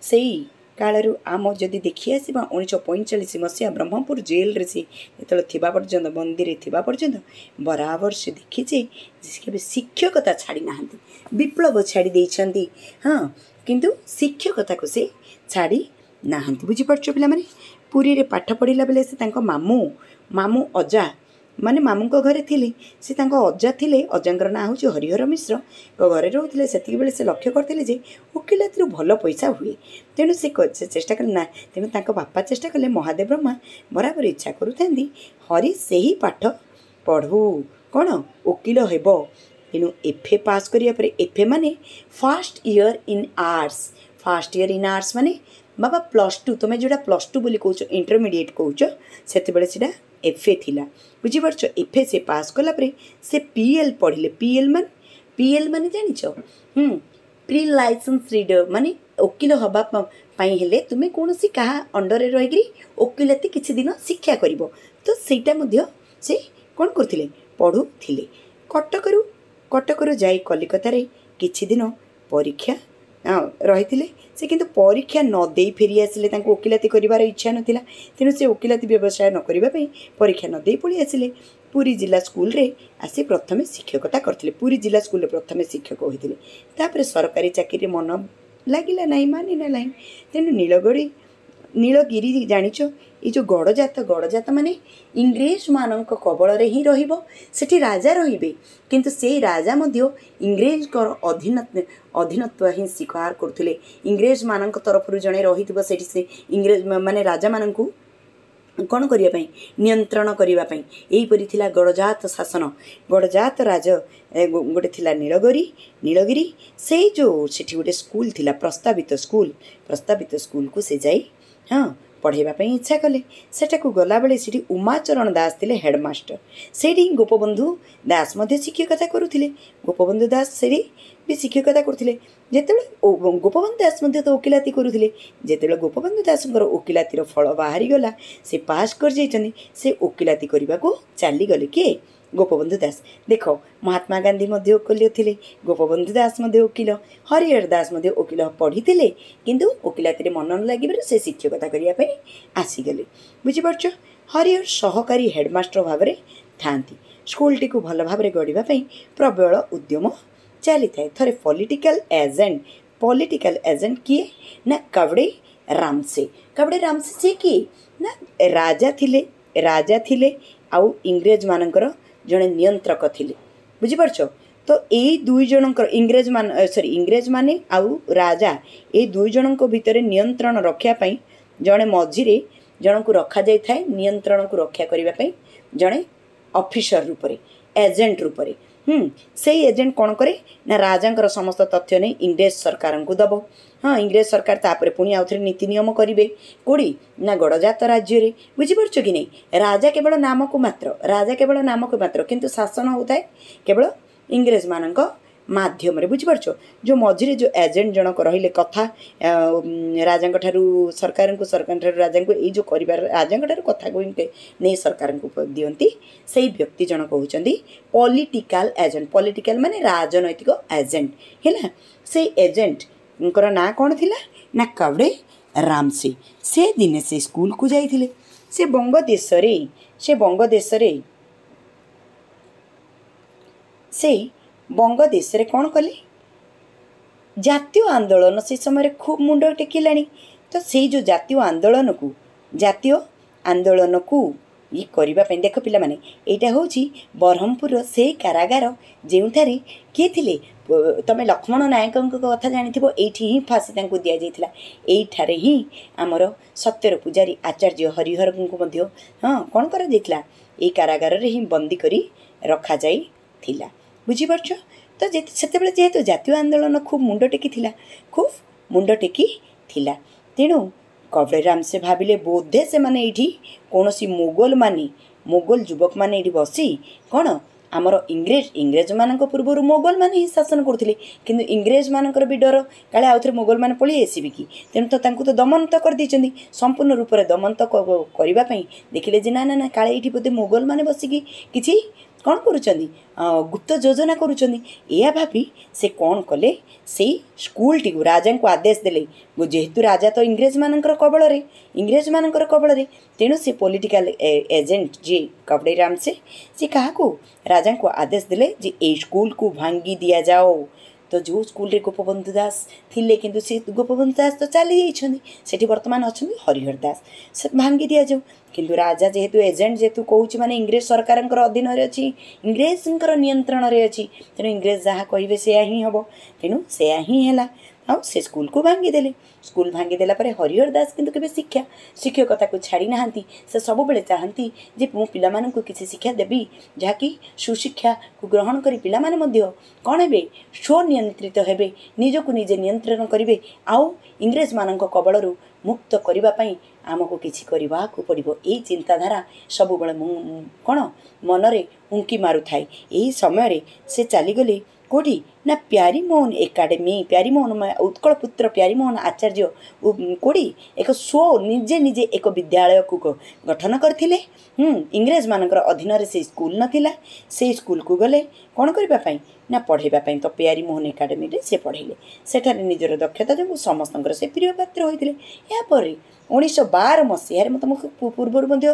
ସେଇ କାଳରୁ ଆମ ଯଦି ଦେଖି ଆସିବା, ଉଣେଇଶହ ପଇଁଚାଳିଶ ମସିହା ବ୍ରହ୍ମପୁର ଜେଲରେ ସେ ଯେତେବେଳେ ଥିବା ପର୍ଯ୍ୟନ୍ତ, ବନ୍ଦୀରେ ଥିବା ପର୍ଯ୍ୟନ୍ତ ବରାବର ସେ ଦେଖିଛେ ସେ କେବେ ଶିକ୍ଷକତା ଛାଡ଼ି ନାହାନ୍ତି, ବିପ୍ଳବ ଛାଡ଼ି ଦେଇଛନ୍ତି। ହଁ, କିନ୍ତୁ ଶିକ୍ଷକତାକୁ ସେ ଛାଡ଼ି ନାହାନ୍ତି। ବୁଝିପାରୁଛ ପିଲାମାନେ? ପୁରୀରେ ପାଠ ପଢ଼ିଲା ବେଳେ ସେ ତାଙ୍କ ମାମୁଁ ମାମୁଁ ଅଜା ମାନେ ମାମୁଁଙ୍କ ଘରେ ଥିଲେ। ସେ ତାଙ୍କ ଅଜା ଥିଲେ, ଅଜାଙ୍କର ନାଁ ହେଉଛି ହରିହର ମିଶ୍ରଙ୍କ ଘରେ ରହୁଥିଲେ। ସେତିକିବେଳେ ସେ ଲକ୍ଷ୍ୟ କରିଥିଲେ ଯେ ଓକିଲାତିରୁ ଭଲ ପଇସା ହୁଏ। ତେଣୁ ସେ ଚେଷ୍ଟା କଲେ ନା, ତେଣୁ ତାଙ୍କ ବାପା ଚେଷ୍ଟା କଲେ, ମହାଦେବ ବ୍ରହ୍ମା ବରାବର ଇଚ୍ଛା କରୁଥାନ୍ତି ହରି ସେହି ପାଠ ପଢ଼ୁ, କ'ଣ ଓକିଲ ହେବ। ତେଣୁ ଏଫ୍ ଏ ପାସ୍ କରିବା ପରେ, ଏଫ୍ ଏ ମାନେ first year in arts, first year in arts ମାନେ ବାବା ପ୍ଲସ୍ ଟୁ, ତୁମେ ଯେଉଁଟା ପ୍ଲସ୍ ଟୁ ବୋଲି କହୁଛ, ଇଣ୍ଟରମିଡ଼ିଏଟ୍ କହୁଛ, ସେତେବେଳେ ସେଇଟା ଏଫ୍ ଏ ଥିଲା। ବୁଝିପାରୁଛ? ଏଫ୍ ଏ ସେ ପାସ୍ କଲା ପରେ ସେ ପି ଏଲ୍ ପଢ଼ିଲେ। ପି ଏଲ୍ ମାନେ, ପି ଏଲ୍ ମାନେ ଜାଣିଛ? ହୁଁ, ପ୍ରି ଲାଇସେନ୍ସ ରିଡ଼ର, ମାନେ ଓକିଲ ହେବା ପାଇଁ ହେଲେ ତୁମେ କୌଣସି କାହା ଅଣ୍ଡରରେ ରହିକରି ଓକିଲାତି କିଛି ଦିନ ଶିକ୍ଷା କରିବ, ତ ସେଇଟା ମଧ୍ୟ ସେ କ'ଣ କରୁଥିଲେ? ପଢ଼ୁଥିଲେ। କଟକରୁ କଟକରୁ ଯାଇ କଲିକତାରେ କିଛି ଦିନ ପରୀକ୍ଷା ରହିଥିଲେ ସେ, କିନ୍ତୁ ପରୀକ୍ଷା ନ ଦେଇ ଫେରି ଆସିଲେ। ତାଙ୍କୁ ଓକିଲାତି କରିବାର ଇଚ୍ଛା ନଥିଲା, ତେଣୁ ସେ ଓକିଲାତି ବ୍ୟବସାୟ ନ କରିବା ପାଇଁ ପରୀକ୍ଷା ନ ଦେଇ ପଳେଇ ଆସିଲେ। ପୁରୀ ଜିଲ୍ଲା ସ୍କୁଲରେ ଆସି ପ୍ରଥମେ ଶିକ୍ଷକତା କରିଥିଲେ। ପୁରୀ ଜିଲ୍ଲା ସ୍କୁଲରେ ପ୍ରଥମେ ଶିକ୍ଷକ ହୋଇଥିଲେ। ତାପରେ ସରକାରୀ ଚାକିରିରେ ମନ ଲାଗିଲା ନାହିଁ, ମାନିଲା ନାହିଁ। ତେଣୁ ନୀଳଗଡ଼ି, ନୀଳଗିରି ଜାଣିଛ, ଏଇ ଯେଉଁ ଗଡ଼ଜାତ, ଗଡ଼ଜାତ ମାନେ ଇଂରେଜମାନଙ୍କ କବଳରେ ହିଁ ରହିବ। ସେଠି ରାଜା ରହିବେ, କିନ୍ତୁ ସେଇ ରାଜା ମଧ୍ୟ ଇଂରେଜଙ୍କର ଅଧୀନ ଅଧୀନତ୍ୱ ହିଁ ସ୍ୱୀକାର କରୁଥିଲେ। ଇଂରେଜମାନଙ୍କ ତରଫରୁ ଜଣେ ରହିଥିବ ସେଠି, ସେ ଇଂରେଜ ମାନେ ରାଜାମାନଙ୍କୁ କ'ଣ କରିବା ପାଇଁ? ନିୟନ୍ତ୍ରଣ କରିବା ପାଇଁ। ଏହିପରି ଥିଲା ଗଡ଼ଜାତ ଶାସନ। ଗଡ଼ଜାତ ରାଜ ଗୋଟେ ଥିଲା ନୀଳଗିରି, ନୀଳଗିରି। ସେଇ ଯେଉଁ ସେଠି ଗୋଟେ ସ୍କୁଲ ଥିଲା, ପ୍ରସ୍ତାବିତ ସ୍କୁଲ, ପ୍ରସ୍ତାବିତ ସ୍କୁଲକୁ ସେ ଯାଇ ହଁ ପଢ଼ାଇବା ପାଇଁ ଇଚ୍ଛା କଲେ। ସେଠାକୁ ଗଲାବେଳେ ସେଠି ଉମାଚରଣ ଦାସ ଥିଲେ ହେଡ଼ମାଷ୍ଟର। ସେଇଠି ହିଁ ଗୋପବନ୍ଧୁ ଦାସ ମଧ୍ୟ ଶିକ୍ଷକତା କରୁଥିଲେ। ଗୋପବନ୍ଧୁ ଦାସ ସେଇଠି ବି ଶିକ୍ଷକତା କରୁଥିଲେ। ଯେତେବେଳେ ଗୋପବନ୍ଧୁ ଦାସ ମଧ୍ୟ ତ ଓକିଲାତି କରୁଥିଲେ, ଯେତେବେଳେ ଗୋପବନ୍ଧୁ ଦାସଙ୍କର ଓକିଲାତିର ଫଳ ବାହାରିଗଲା, ସେ ପାସ୍ କରିଯାଇଛନ୍ତି, ସେ ଓକିଲାତି କରିବାକୁ ଚାଲିଗଲେ। କିଏ? ଗୋପବନ୍ଧୁ ଦାସ। ଦେଖ, ମହାତ୍ମା ଗାନ୍ଧୀ ମଧ୍ୟ ଓକିଲ ଥିଲେ, ଗୋପବନ୍ଧୁ ଦାସ ମଧ୍ୟ ଓକିଲ, ହରିହର ଦାସ ମଧ୍ୟ ଓକିଲ ପଢ଼ିଥିଲେ, କିନ୍ତୁ ଓକିଲାତିରେ ମନ ନ ଲାଗିବାରୁ ସେ ଶିକ୍ଷକତା କରିବା ପାଇଁ ଆସିଗଲେ। ବୁଝିପାରୁଛ? ହରିହର ସହକାରୀ ହେଡ଼ମାଷ୍ଟର ଭାବରେ ଥାଆନ୍ତି। ସ୍କୁଲଟିକୁ ଭଲ ଭାବରେ ଗଢ଼ିବା ପାଇଁ ପ୍ରବଳ ଉଦ୍ୟମ ଚାଲିଥାଏ। ଥରେ ପଲିଟିକାଲ ଏଜେଣ୍ଟ, ପଲିଟିକାଲ ଏଜେଣ୍ଟ କିଏ ନା କାବଡ଼େ ରାମସେ। କାବଡ଼େ ରାମସେ ସିଏ କିଏ ନା ରାଜା ଥିଲେ, ରାଜା ଥିଲେ ଆଉ ଇଂରେଜମାନଙ୍କର ଜଣେ ନିୟନ୍ତ୍ରକ ଥିଲେ। ବୁଝିପାରୁଛ? ତ ଏଇ ଦୁଇ ଜଣଙ୍କର, ଇଂରେଜ ମାନ, ସରି, ଇଂରେଜମାନେ ଆଉ ରାଜା, ଏଇ ଦୁଇ ଜଣଙ୍କ ଭିତରେ ନିୟନ୍ତ୍ରଣ ରଖିବା ପାଇଁ ଜଣେ ମଝିରେ ଜଣଙ୍କୁ ରଖାଯାଇଥାଏ, ନିୟନ୍ତ୍ରଣକୁ ରକ୍ଷା କରିବା ପାଇଁ ଜଣେ ଅଫିସର ରୂପରେ, ଏଜେଣ୍ଟ ରୂପରେ। ହୁଁ, ସେଇ ଏଜେଣ୍ଟ କ'ଣ କରେ ନା ରାଜାଙ୍କର ସମସ୍ତ ତଥ୍ୟ ନେଇ ଇଂରେଜ ସରକାରଙ୍କୁ ଦେବ। ହଁ, ଇଂରେଜ ସରକାର ତାପରେ ପୁଣି ଆଉଥରେ ନୀତି ନିୟମ କରିବେ। କେଉଁଠି ନା ଗଡ଼ଜାତ ରାଜ୍ୟରେ। ବୁଝିପାରୁଛ କି ନାହିଁ? ରାଜା କେବଳ ନାମକୁ ମାତ୍ର, ରାଜା କେବଳ ନାମକୁ ମାତ୍ର, କିନ୍ତୁ ଶାସନ ହେଉଥାଏ କେବଳ ଇଂରେଜମାନଙ୍କ ମାଧ୍ୟମରେ। ବୁଝିପାରୁଛ? ଯେଉଁ ମଝିରେ ଯେଉଁ ଏଜେଣ୍ଟ ଜଣକ ରହିଲେ, କଥା ରାଜାଙ୍କ ଠାରୁ ସରକାରଙ୍କୁ, ସରକାରଙ୍କ ଠାରୁ ରାଜାଙ୍କୁ, ଏଇ ଯେଉଁ କରିବାର, ରାଜାଙ୍କ ଠାରୁ କଥାକୁ ନେଇ ସରକାରଙ୍କୁ ଦିଅନ୍ତି, ସେଇ ବ୍ୟକ୍ତି ଜଣକ ହେଉଛନ୍ତି ପଲିଟିକାଲ ଏଜେଣ୍ଟ। ପଲିଟିକାଲ ମାନେ ରାଜନୈତିକ ଏଜେଣ୍ଟ ହେଲା। ସେଇ ଏଜେଣ୍ଟଙ୍କର ନାଁ କ'ଣ ଥିଲା ନା କାବଡ଼େ ରାମସେ। ସେ ଦିନେ ସେ ସ୍କୁଲକୁ ଯାଇଥିଲେ। ସେ ବଙ୍ଗଦେଶରେ ସେ ବଙ୍ଗଦେଶରେ ସେ ବଙ୍ଗଦେଶରେ କ'ଣ କଲେ? ଜାତୀୟ ଆନ୍ଦୋଳନ ସେ ସମୟରେ ଖୁବ୍ ମୁଣ୍ଡ ଟେକିଲାଣି। ତ ସେଇ ଯେଉଁ ଜାତୀୟ ଆନ୍ଦୋଳନକୁ ଜାତୀୟ ଆନ୍ଦୋଳନକୁ ଇଏ କରିବା ପାଇଁ, ଦେଖ ପିଲାମାନେ, ଏଇଟା ହେଉଛି ବ୍ରହ୍ମପୁରର ସେଇ କାରାଗାର ଯେଉଁଠାରେ କିଏ ଥିଲେ? ତମେ ଲକ୍ଷ୍ମଣ ନାୟକଙ୍କ କଥା ଜାଣିଥିବ, ଏଇଠି ହିଁ ଫାଶୀ ତାଙ୍କୁ ଦିଆଯାଇଥିଲା। ଏଇଠାରେ ହିଁ ଆମର ସତ୍ୟର ପୂଜାରୀ ଆଚାର୍ଯ୍ୟ ହରିହରଙ୍କୁ ମଧ୍ୟ ହଁ କ'ଣ କରାଯାଇଥିଲା? ଏଇ କାରାଗାରରେ ହିଁ ବନ୍ଦୀ କରି ରଖାଯାଇଥିଲା। ବୁଝିପାରୁଛ? ତ ସେତେବେଳେ ଯେହେତୁ ଜାତୀୟ ଆନ୍ଦୋଳନ ଖୁବ୍ ମୁଣ୍ଡ ଟେକିଥିଲା, ଖୁବ୍ ମୁଣ୍ଡ ଟେକି ଥିଲା, ତେଣୁ କବଡ଼େ ରାମସେ ଭାବିଲେ ବୋଧେ ସେମାନେ ଏଇଠି କୌଣସି ମୋଗଲମାନେ, ମୋଗଲ ଯୁବକମାନେ ଏଇଠି ବସି କ'ଣ ଆମର ଇଂରେଜ, ଇଂରେଜମାନଙ୍କ ପୂର୍ବରୁ ମୋଗଲମାନେ ହିଁ ଶାସନ କରୁଥିଲେ, କିନ୍ତୁ ଇଂରେଜମାନଙ୍କର ବି ଡର କାଳେ ଆଉଥରେ ମୋଗଲମାନେ ପଳେଇ ଆସିବେ କି। ତେଣୁ ତ ତାଙ୍କୁ ତ ଦମନ ତ କରିଦେଇଛନ୍ତି, ସମ୍ପୂର୍ଣ୍ଣ ରୂପରେ ଦମନ ତ କରିବା ପାଇଁ ଦେଖିଲେ ଯେ ନା ନା ନା, କାଳେ ଏଇଠି ବୋଧେ ମୋଗଲମାନେ ବସିକି କିଛି କ'ଣ କରୁଛନ୍ତି, ଗୁପ୍ତ ଯୋଜନା କରୁଛନ୍ତି। ଏହା ଭାବି ସେ କ'ଣ କଲେ? ସେଇ ସ୍କୁଲଟିକୁ ରାଜାଙ୍କୁ ଆଦେଶ ଦେଲେ। ଯେହେତୁ ରାଜା ତ ଇଂରେଜମାନଙ୍କର କବଳରେ, ଇଂରେଜମାନଙ୍କର କବଳରେ, ତେଣୁ ସେ ପଲିଟିକାଲ ଏଜେଣ୍ଟ ଯିଏ କବଡ଼େ ରାମସେ, ସେ କାହାକୁ, ରାଜାଙ୍କୁ ଆଦେଶ ଦେଲେ ଯେ ଏଇ ସ୍କୁଲକୁ ଭାଙ୍ଗି ଦିଆଯାଉ। ତ ଯେଉଁ ସ୍କୁଲରେ ଗୋପବନ୍ଧୁ ଦାସ ଥିଲେ, କିନ୍ତୁ ସେ ଗୋପବନ୍ଧୁ ଦାସ ତ ଚାଲି ଯାଇଛନ୍ତି, ସେଠି ବର୍ତ୍ତମାନ ଅଛନ୍ତି ହରିହର ଦାସ, ସେ ଭାଙ୍ଗି ଦିଆଯାଉ। କିନ୍ତୁ ରାଜା ଯେହେତୁ ଏଜେଣ୍ଟ ଯେହେତୁ କହୁଛି, ମାନେ ଇଂରେଜ ସରକାରଙ୍କର ଅଧୀନରେ ଅଛି, ଇଂରେଜଙ୍କର ନିୟନ୍ତ୍ରଣରେ ଅଛି, ତେଣୁ ଇଂରେଜ ଯାହା କହିବେ ସେୟା ହିଁ ହେବ। ତେଣୁ ସେୟା ହିଁ ହେଲା, ଆଉ ସେ ସ୍କୁଲକୁ ଭାଙ୍ଗିଦେଲେ। ସ୍କୁଲ ଭାଙ୍ଗିଦେଲା ପରେ ହରିହର ଦାସ କିନ୍ତୁ କେବେ ଶିକ୍ଷା ଶିକ୍ଷକତାକୁ ଛାଡ଼ି ନାହାନ୍ତି। ସେ ସବୁବେଳେ ଚାହାନ୍ତି ଯେ ମୁଁ ପିଲାମାନଙ୍କୁ କିଛି ଶିକ୍ଷା ଦେବି, ଯାହାକି ସୁଶିକ୍ଷାକୁ ଗ୍ରହଣ କରି ପିଲାମାନେ ମଧ୍ୟ କ'ଣ ହେବେ? ସ୍ୱନିୟନ୍ତ୍ରିତ ହେବେ, ନିଜକୁ ନିଜେ ନିୟନ୍ତ୍ରଣ କରିବେ, ଆଉ ଇଂରେଜମାନଙ୍କ କବଳରୁ ମୁକ୍ତ କରିବା ପାଇଁ ଆମକୁ କିଛି କରିବାକୁ ପଡ଼ିବ। ଏଇ ଚିନ୍ତାଧାରା ସବୁବେଳେ ମୁଁ କ'ଣ ମନରେ ଉଙ୍କି ମାରୁଥାଏ। ଏହି ସମୟରେ ସେ ଚାଲିଗଲେ କେଉଁଠି ନା ପ୍ୟାରୀମୋହନ ଏକାଡେମୀ, ପ୍ୟାରୀମୋହନ, ଉତ୍କଳ ପୁତ୍ର ପ୍ୟାରୀମୋହନ ଆଚାର୍ଯ୍ୟ କେଉଁଠି ଏକ ସ୍ୱ ନିଜେ ନିଜେ ଏକ ବିଦ୍ୟାଳୟକୁ ଗଠନ କରିଥିଲେ। ଇଂରେଜମାନଙ୍କର ଅଧୀନରେ ସେଇ ସ୍କୁଲ ନଥିଲା। ସେଇ ସ୍କୁଲକୁ ଗଲେ କ'ଣ କରିବା ପାଇଁ ନା ପଢ଼େଇବା ପାଇଁ। ତ ପ୍ୟାରୀମୋହନ ଏକାଡେମୀରେ ସେ ପଢ଼େଇଲେ। ସେଠାରେ ନିଜର ଦକ୍ଷତା ଯୋଗୁଁ ସମସ୍ତଙ୍କର ସେ ପ୍ରିୟ ପାତ୍ର ହୋଇଥିଲେ। ଏହାପରେ ଉଣେଇଶହ ବାର ମସିହାରେ, ମୁଁ ତୁମକୁ ପୂର୍ବରୁ ମଧ୍ୟ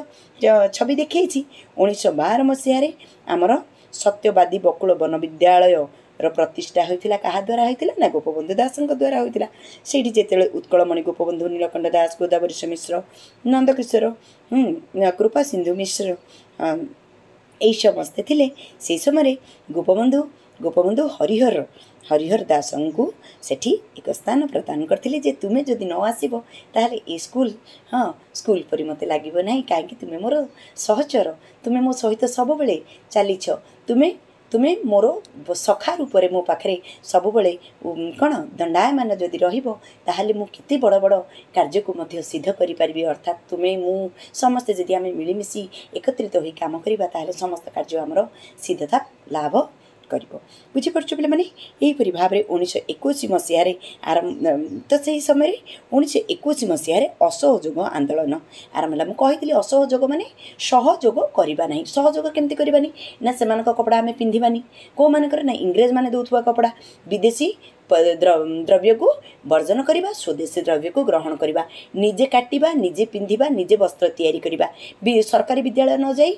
ଛବି ଦେଖେଇଛି, ଉଣେଇଶହ ବାର ମସିହାରେ ଆମର ସତ୍ୟବାଦୀ ବକୁଳ ବନ ବିଦ୍ୟାଳୟର ପ୍ରତିଷ୍ଠା ହୋଇଥିଲା। କାହା ଦ୍ୱାରା ହୋଇଥିଲା ନା ଗୋପବନ୍ଧୁ ଦାସଙ୍କ ଦ୍ୱାରା ହୋଇଥିଲା। ସେଇଠି ଯେତେବେଳେ ଉତ୍କଳମଣି ଗୋପବନ୍ଧୁ, ନୀଳକଣ୍ଠ ଦାସ, ଗୋଦାବରୀଶ ମିଶ୍ର, ନନ୍ଦକିଶୋର, କୃପା ସିନ୍ଧୁ ମିଶ୍ର ଏଇ ସମସ୍ତେ ଥିଲେ, ସେହି ସମୟରେ ଗୋପବନ୍ଧୁ ଗୋପବନ୍ଧୁ ହରିହର ହରିହର ଦାସଙ୍କୁ ସେଠି ଏକ ସ୍ଥାନ ପ୍ରଦାନ କରିଥିଲେ ଯେ ତୁମେ ଯଦି ନ ଆସିବ ତାହେଲେ ଏ ସ୍କୁଲ, ହଁ, ସ୍କୁଲ ପରି ମୋତେ ଲାଗିବ ନାହିଁ, କାହିଁକି ତୁମେ ମୋର ସହଚର, ତୁମେ ମୋ ସହିତ ସବୁବେଳେ ଚାଲିଛ, ତୁମେ ତୁମେ ମୋର ସଖା ରୂପରେ ମୋ ପାଖରେ ସବୁବେଳେ କ'ଣ ଦଣ୍ଡାୟମାନ ଯଦି ରହିବ, ତାହେଲେ ମୁଁ କେତେ ବଡ଼ ବଡ଼ କାର୍ଯ୍ୟକୁ ମଧ୍ୟ ସିଦ୍ଧ କରିପାରିବି। ଅର୍ଥାତ୍ ତୁମେ, ମୁଁ ସମସ୍ତେ ଯଦି ଆମେ ମିଳିମିଶି ଏକତ୍ରିତ ହୋଇ କାମ କରିବା, ତାହେଲେ ସମସ୍ତ କାର୍ଯ୍ୟ ଆମର ସିଦ୍ଧତା ଲାଭ କରିବ। ବୁଝିପାରୁଛ ପିଲାମାନେ? ଏହିପରି ଭାବରେ ଉଣେଇଶହ ଏକୋଇଶ ମସିହାରେ ଆରମ୍ଭ ତ ସେହି ସମୟରେ ଉଣେଇଶହ ଏକୋଇଶ ମସିହାରେ ଅସହଯୋଗ ଆନ୍ଦୋଳନ ଆରମ୍ଭ ହେଲା। ମୁଁ କହିଥିଲି ଅସହଯୋଗ ମାନେ ସହଯୋଗ କରିବା ନାହିଁ। ସହଯୋଗ କେମିତି କରିବାନି ନା ସେମାନଙ୍କ କପଡ଼ା ଆମେ ପିନ୍ଧିବାନି। କେଉଁମାନଙ୍କର ନା ଇଂରେଜମାନେ ଦେଉଥିବା କପଡ଼ା, ବିଦେଶୀ ଦ୍ରବ୍ୟକୁ ବର୍ଜନ କରିବା, ସ୍ୱଦେଶୀ ଦ୍ରବ୍ୟକୁ ଗ୍ରହଣ କରିବା, ନିଜେ କାଟିବା, ନିଜେ ପିନ୍ଧିବା, ନିଜେ ବସ୍ତ୍ର ତିଆରି କରିବା, ସରକାରୀ ବିଦ୍ୟାଳୟ ନ ଯାଇ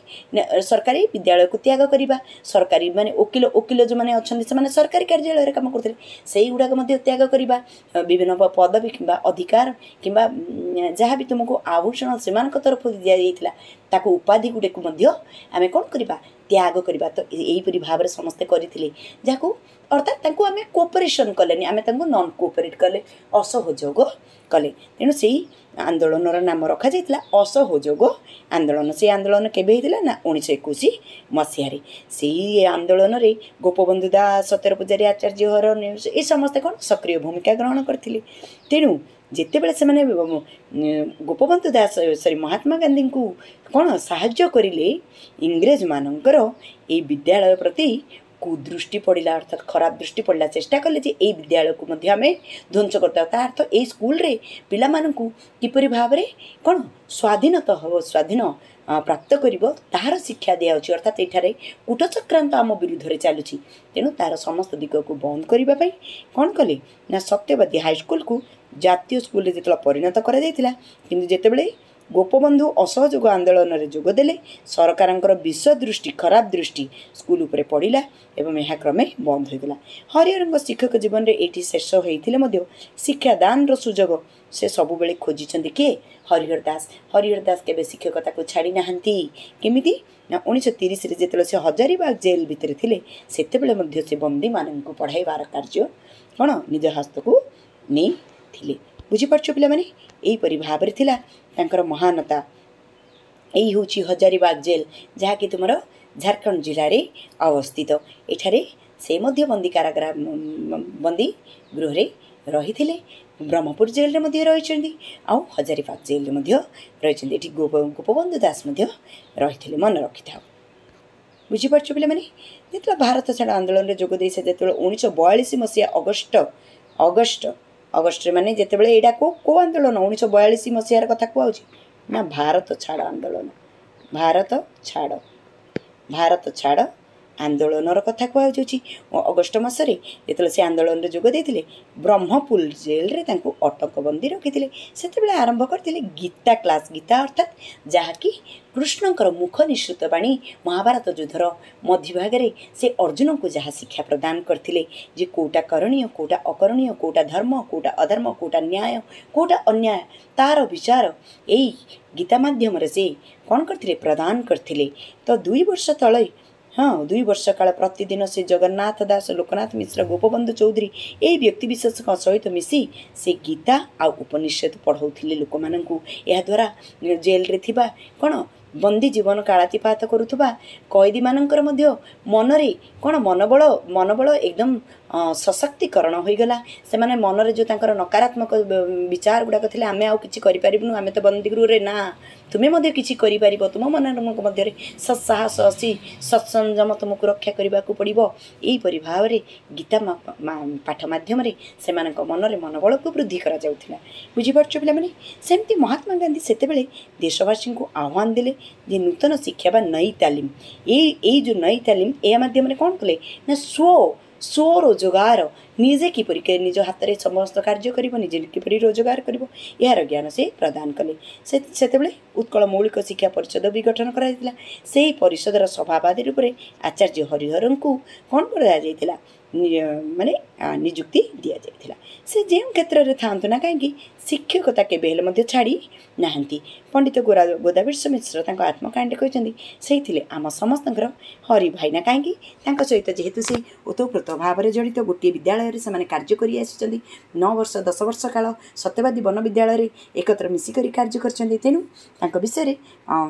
ସରକାରୀ ବିଦ୍ୟାଳୟକୁ ତ୍ୟାଗ କରିବା, ସରକାରୀ ମାନେ ଓକିଲ ଓକିଲ ଯେଉଁମାନେ ଅଛନ୍ତି ସେମାନେ ସରକାରୀ କାର୍ଯ୍ୟାଳୟରେ କାମ କରୁଥିଲେ, ସେଇଗୁଡ଼ାକ ମଧ୍ୟ ତ୍ୟାଗ କରିବା, ବିଭିନ୍ନ ପଦବୀ କିମ୍ବା ଅଧିକାର କିମ୍ବା ଯାହା ବି ତୁମକୁ ଆଭୂଷଣ ସେମାନଙ୍କ ତରଫରୁ ଦିଆଯାଇଥିଲା ତାକୁ ଉପାଧି ଗୁଡ଼ିକୁ ମଧ୍ୟ ଆମେ କ'ଣ କରିବା? ତ୍ୟାଗ କରିବା। ତ ଏହିପରି ଭାବରେ ସମସ୍ତେ କରିଥିଲେ, ଯାହାକୁ ଅର୍ଥାତ୍ ତାଙ୍କୁ ଆମେ କୋଅପରେସନ୍ କଲେନି, ଆମେ ତାଙ୍କୁ ନନ୍ କୋଅପରେଟ୍ କଲେ, ଅସହଯୋଗ କଲେ। ତେଣୁ ସେଇ ଆନ୍ଦୋଳନର ନାମ ରଖାଯାଇଥିଲା ଅସହଯୋଗ ଆନ୍ଦୋଳନ। ସେଇ ଆନ୍ଦୋଳନ କେବେ ହେଇଥିଲା ନା ଉଣେଇଶହ ଏକୋଇଶ ମସିହାରେ। ସେଇ ଆନ୍ଦୋଳନରେ ଗୋପବନ୍ଧୁ ଦାସ, ସତ୍ୟର ପୂଜାରୀ, ଆଚାର୍ଯ୍ୟ ହର ଏ ସମସ୍ତେ କ'ଣ ସକ୍ରିୟ ଭୂମିକା ଗ୍ରହଣ କରିଥିଲେ। ତେଣୁ ଯେତେବେଳେ ସେମାନେ ଗୋପବନ୍ଧୁ ଦାସ ସରି ମହାତ୍ମା ଗାନ୍ଧୀଙ୍କୁ କ'ଣ ସାହାଯ୍ୟ କରିଲେ, ଇଂରେଜମାନଙ୍କର ଏଇ ବିଦ୍ୟାଳୟ ପ୍ରତି କୁଦୃଷ୍ଟି ପଡ଼ିଲା, ଅର୍ଥାତ୍ ଖରାପ ଦୃଷ୍ଟି ପଡ଼ିଲା। ଚେଷ୍ଟା କଲେ ଯେ ଏଇ ବିଦ୍ୟାଳୟକୁ ମଧ୍ୟ ଆମେ ଧ୍ୱଂସ କରିଦେବା। ତା ଅର୍ଥ ଏଇ ସ୍କୁଲରେ ପିଲାମାନଙ୍କୁ କିପରି ଭାବରେ କ'ଣ ସ୍ୱାଧୀନତା ହେବ, ସ୍ୱାଧୀନ ପ୍ରାପ୍ତ କରିବ ତାହାର ଶିକ୍ଷା ଦିଆହେଉଛି, ଅର୍ଥାତ୍ ଏଠାରେ କୂଟଚକ୍ରାନ୍ତ ଆମ ବିରୁଦ୍ଧରେ ଚାଲୁଛି। ତେଣୁ ତା'ର ସମସ୍ତ ଦିଗକୁ ବନ୍ଦ କରିବା ପାଇଁ କ'ଣ କଲେ ନା ସତ୍ୟବାଦୀ ହାଇସ୍କୁଲକୁ ଜାତୀୟ ସ୍କୁଲରେ ଯେତେବେଳେ ପରିଣତ କରାଯାଇଥିଲା, କିନ୍ତୁ ଯେତେବେଳେ ଗୋପବନ୍ଧୁ ଅସହଯୋଗ ଆନ୍ଦୋଳନରେ ଯୋଗ ଦେଲେ, ସରକାରଙ୍କର ବିଷ ଦୃଷ୍ଟି, ଖରାପ ଦୃଷ୍ଟି ସ୍କୁଲ ଉପରେ ପଡ଼ିଲା ଏବଂ ଏହା କ୍ରମେ ବନ୍ଦ ହୋଇଗଲା। ହରିହରଙ୍କ ଶିକ୍ଷକ ଜୀବନରେ ଏଇଠି ଶେଷ ହୋଇଥିଲେ ମଧ୍ୟ ଶିକ୍ଷାଦାନର ସୁଯୋଗ ସେ ସବୁବେଳେ ଖୋଜିଛନ୍ତି। କିଏ? ହରିହର ଦାସ। ହରିହର ଦାସ କେବେ ଶିକ୍ଷକତାକୁ ଛାଡ଼ି ନାହାନ୍ତି। କେମିତି ନା ଉଣେଇଶହ ତିରିଶରେ ଯେତେବେଳେ ସେ ହଜାରିବାଗ ଜେଲ୍ ଭିତରେ ଥିଲେ, ସେତେବେଳେ ମଧ୍ୟ ସେ ବନ୍ଦୀମାନଙ୍କୁ ପଢ଼ାଇବାର କାର୍ଯ୍ୟ କ'ଣ ନିଜ ହସ୍ତକୁ ନେଇଥିଲେ। ବୁଝିପାରୁଛ ପିଲାମାନେ? ଏହିପରି ଭାବରେ ଥିଲା ତାଙ୍କର ମହାନତା। ଏଇ ହେଉଛି ହଜାରିବାଗ ଜେଲ୍, ଯାହାକି ତୁମର ଝାଡ଼ଖଣ୍ଡ ଜିଲ୍ଲାରେ ଅବସ୍ଥିତ। ଏଠାରେ ସେ ମଧ୍ୟ ବନ୍ଦୀ କାରାଗାର, ବନ୍ଦୀ ଗୃହରେ ରହିଥିଲେ। ବ୍ରହ୍ମପୁର ଜେଲ୍ରେ ମଧ୍ୟ ରହିଛନ୍ତି ଆଉ ହଜାରିବାଗ ଜେଲ୍ରେ ମଧ୍ୟ ରହିଛନ୍ତି। ଏଠି ଗୋପବନ୍ଧୁ ଦାସ ମଧ୍ୟ ରହିଥିଲେ, ମନେ ରଖିଥାଅ। ବୁଝିପାରୁଛ ପିଲାମାନେ? ଯେତେବେଳେ ଭାରତ ଛାଡ଼ ଆନ୍ଦୋଳନରେ ଯୋଗ ଦେଇ ସେ ଯେତେବେଳେ ଉଣେଇଶହ ବୟାଳିଶ ମସିହା ଅଗଷ୍ଟ ଅଗଷ୍ଟ ଅଗଷ୍ଟରେ, ମାନେ ଯେତେବେଳେ ଏଇଟା କେଉଁ କେଉଁ ଆନ୍ଦୋଳନ ଉଣେଇଶହ ବୟାଳିଶ ମସିହାର କଥା କୁହାହେଉଛି ନା ଭାରତ ଛାଡ଼ ଆନ୍ଦୋଳନ। ଭାରତ ଛାଡ଼, ଭାରତ ଛାଡ଼ ଆନ୍ଦୋଳନର କଥା କୁହାଯାଉଛି। ଅଗଷ୍ଟ ମାସରେ ଯେତେବେଳେ ସେ ଆନ୍ଦୋଳନରେ ଯୋଗ ଦେଇଥିଲେ, ବ୍ରହ୍ମପୁର ଜେଲରେ ତାଙ୍କୁ ଅଟକବନ୍ଦୀ ରଖିଥିଲେ। ସେତେବେଳେ ଆରମ୍ଭ କରିଥିଲେ ଗୀତା କ୍ଲାସ୍। ଗୀତା ଅର୍ଥାତ୍ ଯାହାକି କୃଷ୍ଣଙ୍କର ମୁଖ ନିଃସୃତ ବାଣୀ, ମହାଭାରତ ଯୁଦ୍ଧର ମଧ୍ୟଭାଗରେ ସେ ଅର୍ଜୁନଙ୍କୁ ଯାହା ଶିକ୍ଷା ପ୍ରଦାନ କରିଥିଲେ ଯେ କେଉଁଟା କରଣୀୟ, କେଉଁଟା ଅକରଣୀୟ, କେଉଁଟା ଧର୍ମ, କେଉଁଟା ଅଧର୍ମ, କେଉଁଟା ନ୍ୟାୟ, କେଉଁଟା ଅନ୍ୟାୟ, ତାର ବିଚାର ଏଇ ଗୀତା ମାଧ୍ୟମରେ ସେ କ'ଣ କରିଥିଲେ? ପ୍ରଦାନ କରିଥିଲେ। ତ ଦୁଇ ବର୍ଷ ତଳେ, ହଁ, ଦୁଇ ବର୍ଷ କାଳ ପ୍ରତିଦିନ ସେ ଜଗନ୍ନାଥ ଦାସ, ଲୋକନାଥ ମିଶ୍ର, ଗୋପବନ୍ଧୁ ଚୌଧୁରୀ ଏହି ବ୍ୟକ୍ତିବିଶେଷଙ୍କ ସହିତ ମିଶି ସେ ଗୀତା ଆଉ ଉପନିଷଦ ପଢ଼ାଉଥିଲେ ଲୋକମାନଙ୍କୁ। ଏହାଦ୍ୱାରା ଜେଲରେ ଥିବା କ'ଣ ବନ୍ଦୀ ଜୀବନ କାଳାତିପାତ କରୁଥିବା କଏଦୀମାନଙ୍କର ମଧ୍ୟ ମନରେ କ'ଣ ମନୋବଳ ମନୋବଳ ଏକଦମ ସଶକ୍ତିକରଣ ହୋଇଗଲା। ସେମାନେ ମନରେ ଯେଉଁ ତାଙ୍କର ନକାରାତ୍ମକ ବିଚାର ଗୁଡ଼ାକ ଥିଲା, ଆମେ ଆଉ କିଛି କରିପାରିବୁନୁ, ଆମେ ତ ବନ୍ଦୀ ଗୃହରେ, ନା, ତୁମେ ମଧ୍ୟ କିଛି କରିପାରିବ, ତୁମ ମନଙ୍କ ମଧ୍ୟରେ ସତ୍ସାହସ ଅଛି, ସତ୍ସଂଯମ ତୁମକୁ ରକ୍ଷା କରିବାକୁ ପଡ଼ିବ। ଏହିପରି ଭାବରେ ଗୀତା ପାଠ ମାଧ୍ୟମରେ ସେମାନଙ୍କ ମନରେ ମନୋବଳକୁ ବୃଦ୍ଧି କରାଯାଉଥିଲା। ବୁଝିପାରୁଛ ପିଲାମାନେ? ସେମିତି ମହାତ୍ମା ଗାନ୍ଧୀ ସେତେବେଳେ ଦେଶବାସୀଙ୍କୁ ଆହ୍ୱାନ ଦେଲେ ଯେ ନୂତନ ଶିକ୍ଷା ବା ନଈ ତାଲିମ। ଏଇ ଏଇ ଯେଉଁ ନଈ ତାଲିମ, ଏହା ମାଧ୍ୟମରେ କ'ଣ କଲେ ନା ସ୍ୱ ସ୍ୱରୋଜଗାର, ନିଜେ କିପରି ନିଜ ହାତରେ ସମସ୍ତ କାର୍ଯ୍ୟ କରିବ, ନିଜେ କିପରି ରୋଜଗାର କରିବ, ଏହାର ଜ୍ଞାନ ସେ ପ୍ରଦାନ କଲେ। ସେ ସେତେବେଳେ ଉତ୍କଳ ମୌଳିକ ଶିକ୍ଷା ପରିଷଦ ବି ଗଠନ କରାଯାଇଥିଲା। ସେହି ପରିଷଦର ସଭାପତି ରୂପରେ ଆଚାର୍ଯ୍ୟ ହରିହରଙ୍କୁ କ'ଣ କରାଯାଇଥିଲା? ମାନେ ନିଯୁକ୍ତି ଦିଆଯାଇଥିଲା। ସେ ଯେଉଁ କ୍ଷେତ୍ରରେ ଥାଆନ୍ତୁ ନା କାହିଁକି, ଶିକ୍ଷକତା କେବେ ହେଲେ ମଧ୍ୟ ଛାଡ଼ି ନାହାନ୍ତି। ପଣ୍ଡିତ ଗୋରା ଗୋଦାବୀଶ ମିଶ୍ର ତାଙ୍କ ଆତ୍ମକାହାଣୀରେ କହିଛନ୍ତି, ସେଇ ଥିଲେ ଆମ ସମସ୍ତଙ୍କର ହରି ଭାଇନା। କାହିଁକି? ତାଙ୍କ ସହିତ ଯେହେତୁ ସେ ଓତପ୍ରୋତ ଭାବରେ ଜଡ଼ିତ, ଗୋଟିଏ ବିଦ୍ୟାଳୟରେ ସେମାନେ କାର୍ଯ୍ୟ କରି ଆସିଛନ୍ତି, ନଅ ବର୍ଷ ଦଶ ବର୍ଷ କାଳ ସତ୍ୟବାଦୀ ବନ ବିଦ୍ୟାଳୟରେ ଏକତ୍ର ମିଶିକରି କାର୍ଯ୍ୟ କରିଛନ୍ତି। ତେଣୁ ତାଙ୍କ ବିଷୟରେ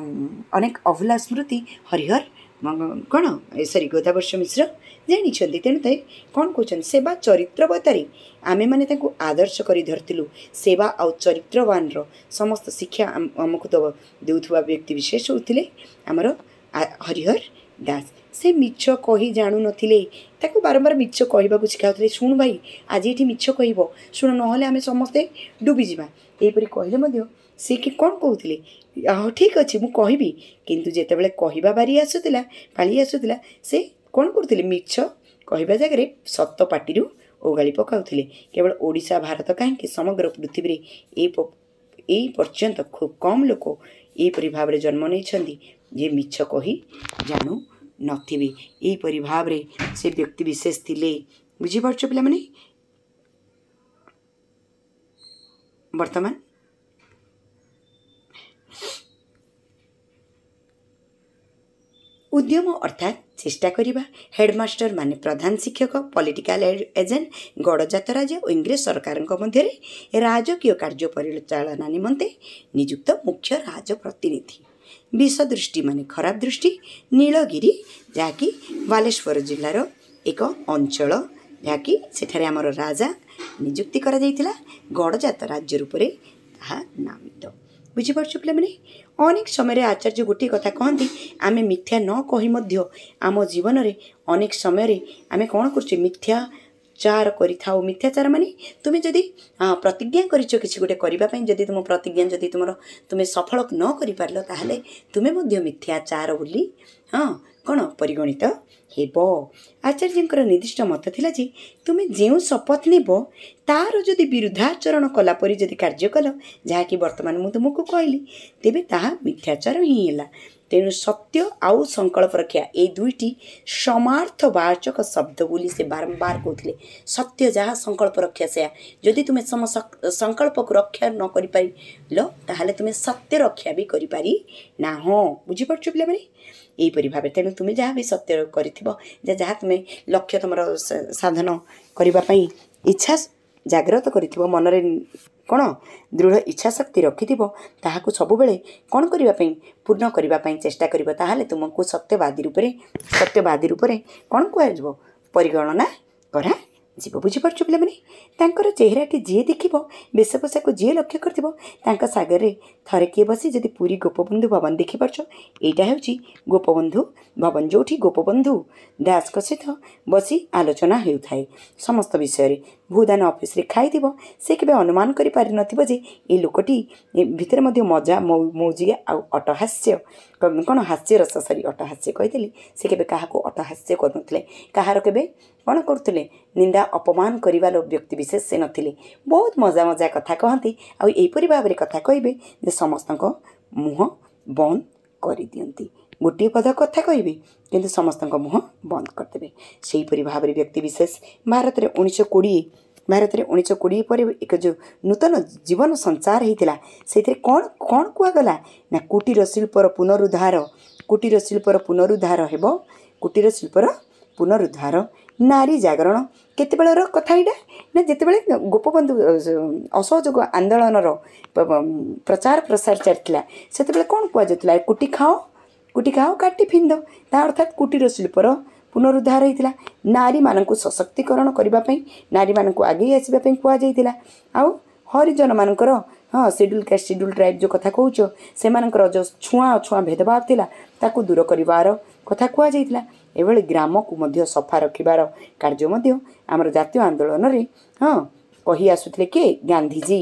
ଅନେକ ଅଭୁଲା ସ୍ମୃତି ହରିହର କ'ଣ ସରି ଗୋଦାବର୍ଷ ମିଶ୍ର ଜାଣିଛନ୍ତି। ତେଣୁ ତାଇ କ'ଣ କହୁଛନ୍ତି? ସେବା ଚରିତ୍ରବତାରେ ଆମେମାନେ ତାଙ୍କୁ ଆଦର୍ଶ କରି ଧରିଥିଲୁ। ସେବା ଆଉ ଚରିତ୍ରବାନର ସମସ୍ତ ଶିକ୍ଷା ଆମକୁ ଦେଉଥିବା ବ୍ୟକ୍ତି ବିଶେଷ ହେଉଥିଲେ ଆମର ହରିହର ଦାସ। ସେ ମିଛ କହି ଜାଣୁନଥିଲେ। ତାକୁ ବାରମ୍ବାର ମିଛ କହିବାକୁ ଶିଖାଉଥିଲେ। ଶୁଣ ଭାଇ, ଆଜି ଏଠି ମିଛ କହିବ, ଶୁଣ, ନହେଲେ ଆମେ ସମସ୍ତେ ଡୁବିଯିବା। ଏହିପରି କହିଲେ ମଧ୍ୟ ସେ କି କ'ଣ କହୁଥିଲେ? ହଁ, ଠିକ୍ ଅଛି, ମୁଁ କହିବି। କିନ୍ତୁ ଯେତେବେଳେ କହିବା ବାରି ଆସୁଥିଲା, ପାଳି ଆସୁଥିଲା, ସେ କ'ଣ କରୁଥିଲେ? ମିଛ କହିବା ଜାଗାରେ ସତ ପାଟିରୁ ଓଗାଳି ପକାଉଥିଲେ। କେବଳ ଓଡ଼ିଶା ଭାରତ କାହିଁକି, ସମଗ୍ର ପୃଥିବୀରେ ଏଇ ଏଇ ପର୍ଯ୍ୟନ୍ତ ଖୁବ୍ କମ୍ ଲୋକ ଏହିପରି ଭାବରେ ଜନ୍ମ ନେଇଛନ୍ତି ଯେ ମିଛ କହି ଜାଣୁ ନଥିବେ। ଏହିପରି ଭାବରେ ସେ ବ୍ୟକ୍ତି ବିଶେଷ ଥିଲେ। ବୁଝିପାରୁଛ ପିଲାମାନେ? ବର୍ତ୍ତମାନ ଉଦ୍ୟମ ଅର୍ଥାତ୍ ଚେଷ୍ଟା କରିବା, ହେଡ଼ମାଷ୍ଟର ମାନେ ପ୍ରଧାନ ଶିକ୍ଷକ, ପଲିଟିକାଲ ଏଜେଣ୍ଟ, ଗଡ଼ଜାତ ରାଜ୍ୟ ଓ ଇଂରେଜ ସରକାରଙ୍କ ମଧ୍ୟରେ ରାଜକୀୟ କାର୍ଯ୍ୟ ପରିଚାଳନା ନିମନ୍ତେ ନିଯୁକ୍ତ ମୁଖ୍ୟ ରାଜପ୍ରତିନିଧି। ବିଷଦୃଷ୍ଟି ମାନେ ଖରାପ ଦୃଷ୍ଟି। ନୀଳଗିରି ଯାହାକି ବାଲେଶ୍ୱର ଜିଲ୍ଲାର ଏକ ଅଞ୍ଚଳ, ଯାହାକି ସେଠାରେ ଆମର ରାଜା ନିଯୁକ୍ତି କରାଯାଇଥିଲା, ଗଡ଼ଜାତ ରାଜ୍ୟ ରୂପରେ ତାହା ନାମିତ। ବୁଝିପାରୁଛ ପିଲାମାନେ? ଅନେକ ସମୟରେ ଆଚାର୍ଯ୍ୟ ଗୋଟିଏ କଥା କହନ୍ତି, ଆମେ ମିଥ୍ୟା ନ କହି ମଧ୍ୟ ଆମ ଜୀବନରେ ଅନେକ ସମୟରେ ଆମେ କ'ଣ କରୁଛେ? ମିଥ୍ୟାଚାର କରିଥାଉ। ମିଥ୍ୟାଚାର ମାନେ ତୁମେ ଯଦି ପ୍ରତିଜ୍ଞା କରିଛ କିଛି ଗୋଟେ କରିବା ପାଇଁ, ଯଦି ତୁମ ପ୍ରତିଜ୍ଞା ଯଦି ତୁମର ତୁମେ ସଫଳ ନ କରିପାରିଲ, ତାହେଲେ ତୁମେ ମଧ୍ୟ ମିଥ୍ୟାଚାର ବୋଲି, ହଁ, କ'ଣ ପରିଗଣିତ ହେବ। ଆଚାର୍ଯ୍ୟଙ୍କର ନିର୍ଦ୍ଦିଷ୍ଟ ମତ ଥିଲା ଯେ ତୁମେ ଯେଉଁ ଶପଥ ନେବ ତାର ଯଦି ବିରୁଦ୍ଧାଚରଣ କଲା ପରି ଯଦି କାର୍ଯ୍ୟ କଲ, ଯାହାକି ବର୍ତ୍ତମାନ ମୁଁ ତୁମକୁ କହିଲି, ତେବେ ତାହା ମିଥ୍ୟାଚାର ହିଁ ହେଲା। ତେଣୁ ସତ୍ୟ ଆଉ ସଂକଳ୍ପ ରକ୍ଷା ଏଇ ଦୁଇଟି ସମାର୍ଥବାଚକ ଶବ୍ଦ ବୋଲି ସେ ବାରମ୍ବାର କହୁଥିଲେ। ସତ୍ୟ ଯାହା, ସଂକଳ୍ପ ରକ୍ଷା ସେୟା। ଯଦି ତୁମେ ସମ ସଂକଳ୍ପକୁ ରକ୍ଷା ନ କରିପାରିଲ, ତାହେଲେ ତୁମେ ସତ୍ୟ ରକ୍ଷା ବି କରିପାରି ନାହଁ। ବୁଝିପାରୁଛ ପିଲାମାନେ? ଏହିପରି ଭାବେ ତେଣୁ ତୁମେ ଯାହା ବି ସତ୍ୟ କରିଥିବ, ଯେ ଯାହା ତୁମେ ଲକ୍ଷ୍ୟ ତୁମର ସାଧନ କରିବା ପାଇଁ ଇଚ୍ଛା ଜାଗ୍ରତ କରିଥିବ, ମନରେ କ'ଣ ଦୃଢ଼ ଇଚ୍ଛା ଶକ୍ତି ରଖିଥିବ, ତାହାକୁ ସବୁବେଳେ କ'ଣ କରିବା ପାଇଁ, ପୂର୍ଣ୍ଣ କରିବା ପାଇଁ ଚେଷ୍ଟା କରିବ, ତାହେଲେ ତୁମକୁ ସତ୍ୟବାଦୀ ରୂପରେ ସତ୍ୟବାଦୀ ରୂପରେ କ'ଣ କୁହାଯିବ? ପରିଗଣନା କରାଯିବ। ବୁଝିପାରୁଛ ପିଲାମାନେ? ତାଙ୍କର ଚେହେରାଟି ଯିଏ ଦେଖିବ, ବେଶଭୂଷାକୁ ଯିଏ ଲକ୍ଷ୍ୟ କରିଥିବ, ତାଙ୍କ ସାଗରରେ ଥରେ କିଏ ବସି ଯଦି ପୁରୀ ଗୋପବନ୍ଧୁ ଭବନ ଦେଖିପାରୁଛ, ଏଇଟା ହେଉଛି ଗୋପବନ୍ଧୁ ଭବନ, ଯେଉଁଠି ଗୋପବନ୍ଧୁ ଦାସଙ୍କ ସହିତ ବସି ଆଲୋଚନା ହେଉଥାଏ ସମସ୍ତ ବିଷୟରେ, ଭୂଦାନ ଅଫିସରେ ଖାଇଥିବ, ସେ କେବେ ଅନୁମାନ କରିପାରିନଥିବ ଯେ ଏ ଲୋକଟି ଭିତରେ ମଧ୍ୟ ମଜା ମୌଜିଆ ଆଉ ଅଟହାସ୍ୟ, କ'ଣ ହାସ୍ୟରସ, ସରି ଅଟହାସ୍ୟ କହିଥିଲି, ସେ କେବେ କାହାକୁ ଅଟ୍ଟହାସ୍ୟ କରୁନଥିଲେ। କାହାର କେବେ କ'ଣ କରୁଥିଲେ? ନିନ୍ଦା ଅପମାନ କରିବାର ବ୍ୟକ୍ତି ବିଶେଷ ସେ ନଥିଲେ। ବହୁତ ମଜା ମଜା କଥା କହନ୍ତି, ଆଉ ଏହିପରି ଭାବରେ କଥା କହିବେ ଯେ ସମସ୍ତଙ୍କ ମୁହଁ ବନ୍ଦ କରିଦିଅନ୍ତି। ଗୋଟିଏ ପଦ କଥା କହିବେ, କିନ୍ତୁ ସମସ୍ତଙ୍କ ମୁହଁ ବନ୍ଦ କରିଦେବେ। ସେହିପରି ଭାବରେ ବ୍ୟକ୍ତି ବିଶେଷ ଭାରତରେ ଉଣେଇଶହ କୋଡ଼ିଏ ଭାରତରେ ଉଣେଇଶହ କୋଡ଼ିଏ ପରେ ଏକ ଯେଉଁ ନୂତନ ଜୀବନ ସଞ୍ଚାର ହେଇଥିଲା, ସେଇଥିରେ କ'ଣ କ'ଣ କୁହାଗଲା ନା କୁଟୀର ଶିଳ୍ପର ପୁନରୁଦ୍ଧାର, କୁଟୀର ଶିଳ୍ପର ପୁନରୁଦ୍ଧାର ହେବ, କୁଟୀର ଶିଳ୍ପର ପୁନରୁଦ୍ଧାର, ନାରୀ ଜାଗରଣ। କେତେବେଳର କଥା ଏଇଟା ନା ଯେତେବେଳେ ଗୋପବନ୍ଧୁ ଅସହଯୋଗ ଆନ୍ଦୋଳନର ପ୍ରଚାର ପ୍ରସାର ଚାଲିଥିଲା, ସେତେବେଳେ କ'ଣ କୁହାଯାଉଥିଲା? କୁଟି ଖାଅ, କୁଟି ଖାଅ କାଟି ଫିନ୍ଦ। ତା ଅର୍ଥାତ୍ କୁଟୀର ଶିଳ୍ପର ପୁନରୁଦ୍ଧାର ହେଇଥିଲା। ନାରୀମାନଙ୍କୁ ସଶକ୍ତିକରଣ କରିବା ପାଇଁ, ନାରୀମାନଙ୍କୁ ଆଗେଇ ଆସିବା ପାଇଁ କୁହାଯାଇଥିଲା। ଆଉ ହରିଜନମାନଙ୍କର, ହଁ, ସିଡ୍ୟୁଲ୍ କାଷ୍ଟ ସିଡ୍ୟୁଲ୍ ଟ୍ରାଇବ୍ ଯେଉଁ କଥା କହୁଛ, ସେମାନଙ୍କର ଯେଉଁ ଛୁଆଁ ଅଛୁଆଁ ଭେଦଭାବ ଥିଲା ତାକୁ ଦୂର କରିବାର କଥା କୁହାଯାଇଥିଲା। ଏଭଳି ଗ୍ରାମକୁ ମଧ୍ୟ ସଫା ରଖିବାର କାର୍ଯ୍ୟ ମଧ୍ୟ ଆମର ଜାତୀୟ ଆନ୍ଦୋଳନରେ, ହଁ, କହି ଆସୁଥିଲେ କିଏ? ଗାନ୍ଧିଜୀ।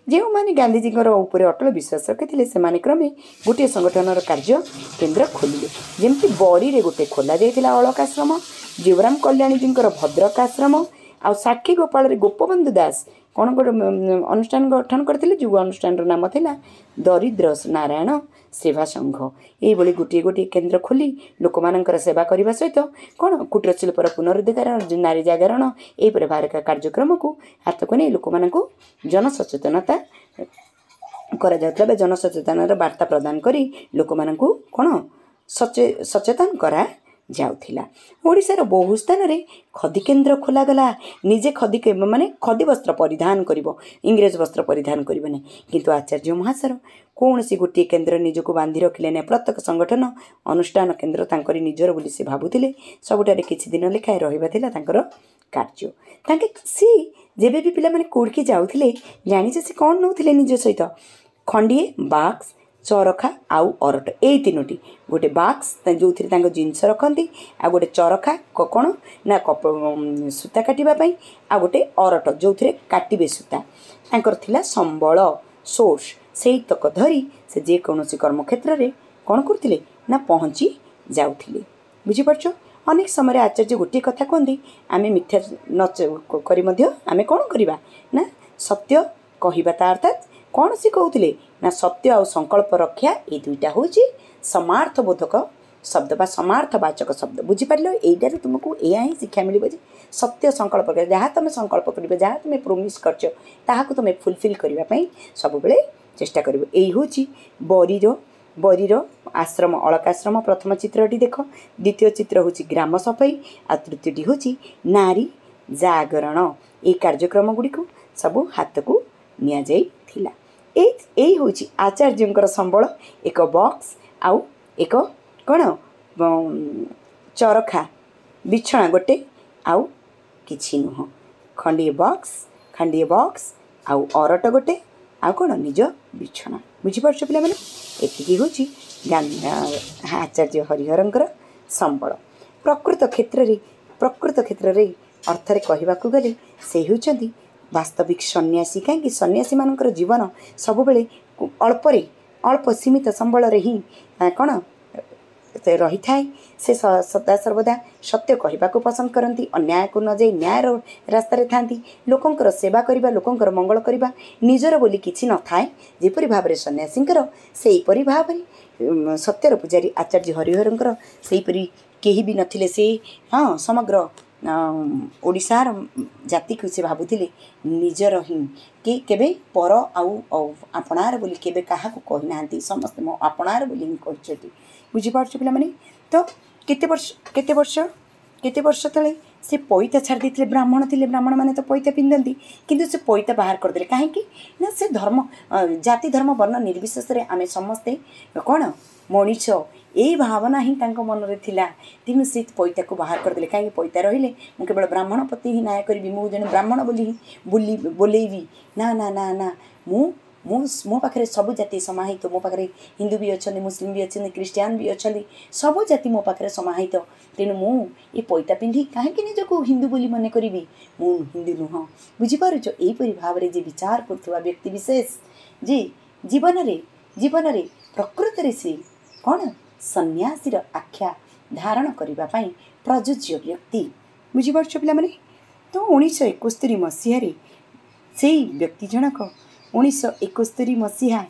ଯେଉଁମାନେ ଗାନ୍ଧିଜୀଙ୍କର ଉପରେ ଅଟଳ ବିଶ୍ୱାସ ରଖିଥିଲେ, ସେମାନେ କ୍ରମେ ଗୋଟିଏ ସଂଗଠନର କାର୍ଯ୍ୟ କେନ୍ଦ୍ର ଖୋଲିଲେ। ଯେମିତି ବରୀରେ ଗୋଟେ ଖୋଲା ଯାଇଥିଲା ଅଳକାଶ୍ରମ, ଜୀବରାମ କଲ୍ୟାଣୀଜୀଙ୍କର ଭଦ୍ରକ ଆଶ୍ରମ, ଆଉ ସାକ୍ଷୀ ଗୋପାଳରେ ଗୋପବନ୍ଧୁ ଦାସ କ'ଣ ଗୋଟେ ଅନୁଷ୍ଠାନ ଗଠନ କରିଥିଲେ, ଯେଉଁ ଅନୁଷ୍ଠାନର ନାମ ଥିଲା ଦରିଦ୍ର ନାରାୟଣ ସେବା ସଂଘ। ଏଇଭଳି ଗୋଟିଏ ଗୋଟିଏ କେନ୍ଦ୍ର ଖୋଲି ଲୋକମାନଙ୍କର ସେବା କରିବା ସହିତ କ'ଣ କୁଟୀର ଶିଳ୍ପର ପୁନରୁଦ୍ଧାର, ନାରୀ ଜାଗରଣ, ଏହିପରି ଭାବରେ କାର୍ଯ୍ୟକ୍ରମକୁ ହାତକୁ ନେଇ ଲୋକମାନଙ୍କୁ ଜନସଚେତନତା କରାଯାଉଥିଲା ବା ଜନସଚେତନର ବାର୍ତ୍ତା ପ୍ରଦାନ କରି ଲୋକମାନଙ୍କୁ କ'ଣ ସଚେ ସଚେତନ କରାଯାଉଥିଲା। ଓଡ଼ିଶାର ବହୁ ସ୍ଥାନରେ ଖଦି କେନ୍ଦ୍ର ଖୋଲାଗଲା। ନିଜେ ଖଦି ମାନେ ଖଦି ବସ୍ତ୍ର ପରିଧାନ କରିବ, ଇଂରେଜ ବସ୍ତ୍ର ପରିଧାନ କରିବ ନାହିଁ। କିନ୍ତୁ ଆଚାର୍ଯ୍ୟ ମହାଶୟ କୌଣସି ଗୋଟିଏ କେନ୍ଦ୍ର ନିଜକୁ ବାନ୍ଧି ରଖିଲେ ନାହିଁ। ପ୍ରତ୍ୟେକ ସଂଗଠନ ଅନୁଷ୍ଠାନ କେନ୍ଦ୍ର ତାଙ୍କରି ନିଜର ବୋଲି ସେ ଭାବୁଥିଲେ। ସବୁଠାରେ କିଛି ଦିନ ଲେଖାଏଁ ରହିବା ଥିଲା ତାଙ୍କର କାର୍ଯ୍ୟ। ତାଙ୍କେ ସେ ଯେବେ ବି ପିଲାମାନେ କୋଉଠିକି ଯାଉଥିଲେ, ଜାଣିଛ ସେ କ'ଣ ନେଉଥିଲେ ନିଜ ସହିତ? ଖଣ୍ଡିଏ ବାକ୍ସ, ଚରଖା ଆଉ ଅରଟ, ଏଇ ତିନୋଟି। ଗୋଟେ ବାକ୍ସ ଯେଉଁଥିରେ ତାଙ୍କ ଜିନିଷ ରଖନ୍ତି, ଆଉ ଗୋଟେ ଚରଖା କ'ଣ ନା କପ ସୂତା କାଟିବା ପାଇଁ, ଆଉ ଗୋଟେ ଅରଟ ଯେଉଁଥିରେ କାଟିବେ ସୂତା। ତାଙ୍କର ଥିଲା ସମ୍ବଳ, ସୋର୍ସ। ସେଇତକ ଧରି ସେ ଯେକୌଣସି କର୍ମକ୍ଷେତ୍ରରେ କ'ଣ କରୁଥିଲେ ନା ପହଞ୍ଚି ଯାଉଥିଲେ। ବୁଝିପାରୁଛ? ଅନେକ ସମୟରେ ଆଚାର୍ଯ୍ୟ ଗୋଟିଏ କଥା କୁହନ୍ତି, ଆମେ ମିଥ୍ୟା ନ କରି ମଧ୍ୟ ଆମେ କ'ଣ କରିବା ନା ସତ୍ୟ କହିବା। ତା ଅର୍ଥାତ୍ କ'ଣ ସେ କହୁଥିଲେ ନା ସତ୍ୟ ଆଉ ସଂକଳ୍ପ ରକ୍ଷା, ଏଇ ଦୁଇଟା ହେଉଛି ସମାର୍ଥବୋଧକ ଶବ୍ଦ ବା ସମାର୍ଥବାଚକ ଶବ୍ଦ। ବୁଝିପାରିଲ? ଏଇଟାରୁ ତୁମକୁ ଏଇଆ ହିଁ ଶିକ୍ଷା ମିଳିବ ଯେ ସତ୍ୟ ସଂକଳ୍ପ, ଯାହା ତୁମେ ସଂକଳ୍ପ କରିବ, ଯାହା ତୁମେ ପ୍ରୋମିସ୍ କରିଛ, ତାହାକୁ ତୁମେ ଫୁଲଫିଲ୍ କରିବା ପାଇଁ ସବୁବେଳେ ଚେଷ୍ଟା କରିବ। ଏଇ ହେଉଛି ବରୀର ବରୀର ଆଶ୍ରମ, ଅଳକାଶ୍ରମ ପ୍ରଥମ ଚିତ୍ରଟି ଦେଖ। ଦ୍ୱିତୀୟ ଚିତ୍ର ହେଉଛି ଗ୍ରାମ ସଫେଇ, ଆଉ ତୃତୀୟଟି ହେଉଛି ନାରୀ ଜାଗରଣ। ଏଇ କାର୍ଯ୍ୟକ୍ରମ ଗୁଡ଼ିକୁ ସବୁ ହାତକୁ ନିଆଯାଇଥିଲା। ଏଇ ଏଇ ହେଉଛି ଆଚାର୍ଯ୍ୟଙ୍କର ସମ୍ବଳ, ଏକ ବକ୍ସ ଆଉ ଏକ କ'ଣ ଚରଖା, ବିଛଣା ଗୋଟେ, ଆଉ କିଛି ନୁହଁ। ଖଣ୍ଡିଏ ବକ୍ସ, ଖଣ୍ଡିଏ ବକ୍ସ ଆଉ ଅରଟ ଗୋଟେ, ଆଉ କ'ଣ ନିଜ ବିଛଣା। ବୁଝିପାରୁଛ ପିଲାମାନେ? ଏତିକି ହେଉଛି ଆଚାର୍ଯ୍ୟ ହରିହରଙ୍କର ସମ୍ବଳ। ପ୍ରକୃତ କ୍ଷେତ୍ରରେ ପ୍ରକୃତ କ୍ଷେତ୍ରରେ ଅର୍ଥରେ କହିବାକୁ ଗଲେ ସେ ହେଉଛନ୍ତି ବାସ୍ତବିକ ସନ୍ନ୍ୟାସୀ। କାହିଁକି ସନ୍ନ୍ୟାସୀମାନଙ୍କର ଜୀବନ ସବୁବେଳେ ଅଳ୍ପରେ ଅଳ୍ପ ସୀମିତ ସମ୍ବଳରେ ହିଁ କ'ଣ ରହିଥାଏ। ସେ ସଦା ସର୍ବଦା ସତ୍ୟ କହିବାକୁ ପସନ୍ଦ କରନ୍ତି, ଅନ୍ୟାୟକୁ ନ ଯାଇ ନ୍ୟାୟର ରାସ୍ତାରେ ଥାନ୍ତି। ଲୋକଙ୍କର ସେବା କରିବା, ଲୋକଙ୍କର ମଙ୍ଗଳ କରିବା, ନିଜର ବୋଲି କିଛି ନଥାଏ। ଯେପରି ଭାବରେ ସନ୍ନ୍ୟାସୀଙ୍କର, ସେହିପରି ଭାବରେ ସତ୍ୟର ପୂଜାରୀ ଆଚାର୍ଯ୍ୟ ହରିହରଙ୍କର ସେହିପରି କେହି ବି ନଥିଲେ। ସେ, ହଁ, ସମଗ୍ର ଓଡ଼ିଶାର ଜାତିକୁ ସେ ଭାବୁଥିଲେ ନିଜର ହିଁ କି କେବେ ପର ଆଉ ଆପଣାର ବୋଲି କେବେ କାହାକୁ କହିନାହାନ୍ତି। ସମସ୍ତେ ମୋ ଆପଣାର ବୋଲି ହିଁ କହିଛନ୍ତି। ବୁଝିପାରୁଛ ପିଲାମାନେ? ତ କେତେ ବର୍ଷ କେତେ ବର୍ଷ କେତେ ବର୍ଷ ତଳେ ସେ ପଇତା ଛାଡ଼ି ଦେଇଥିଲେ। ବ୍ରାହ୍ମଣ ଥିଲେ, ବ୍ରାହ୍ମଣମାନେ ତ ପଇତା ପିନ୍ଧନ୍ତି, କିନ୍ତୁ ସେ ପଇତା ବାହାର କରିଦେଲେ। କାହିଁକି ନା ସେ ଧର୍ମ ଜାତି ଧର୍ମ ବର୍ଣ୍ଣ ନିର୍ବିଶେଷରେ ଆମେ ସମସ୍ତେ କ'ଣ ମଣିଷ, ଏଇ ଭାବନା ହିଁ ତାଙ୍କ ମନରେ ଥିଲା। ତେଣୁ ସେ ପଇତାକୁ ବାହାର କରିଦେଲେ। କାହିଁକି ପଇତା ରହିଲେ ମୁଁ କେବଳ ବ୍ରାହ୍ମଣ ପ୍ରତି ହିଁ ନ୍ୟାୟ କରିବି, ମୁଁ ଜଣେ ବ୍ରାହ୍ମଣ ବୋଲି ହିଁ ବୁଲି ବୋଲେଇବି? ନା ନା ନା ନା, ମୁଁ ମୁଁ ମୋ ପାଖରେ ସବୁ ଜାତି ସମାହିତ। ମୋ ପାଖରେ ହିନ୍ଦୁ ବି ଅଛନ୍ତି, ମୁସଲିମ ବି ଅଛନ୍ତି, ଖ୍ରୀଷ୍ଟିଆନ ବି ଅଛନ୍ତି, ସବୁ ଜାତି ମୋ ପାଖରେ ସମାହିତ। ତେଣୁ ମୁଁ ଏ ପଇତା ପିନ୍ଧି କାହିଁକି ନିଜକୁ ହିନ୍ଦୁ ବୋଲି ମନେ କରିବି? ମୁଁ ହିନ୍ଦୁ ନୁହଁ। ବୁଝିପାରୁଛ? ଏହିପରି ଭାବରେ ଯେ ବିଚାର କରୁଥିବା ବ୍ୟକ୍ତି ବିଶେଷ ଯେ ଜୀବନରେ ଜୀବନରେ ପ୍ରକୃତରେ ସେ କ'ଣ ସନ୍ନ୍ୟାସୀର ଆଖ୍ୟା ଧାରଣ କରିବା ପାଇଁ ପ୍ରଯୁଜ୍ୟ ବ୍ୟକ୍ତି। ବୁଝିପାରୁଛ ପିଲାମାନେ? ତ ଉଣେଇଶହ ଏକସ୍ତରୀ ମସିହାରେ ସେଇ ବ୍ୟକ୍ତି ଜଣକ ଉଣେଇଶହ ଏକସ୍ତରୀ ମସିହା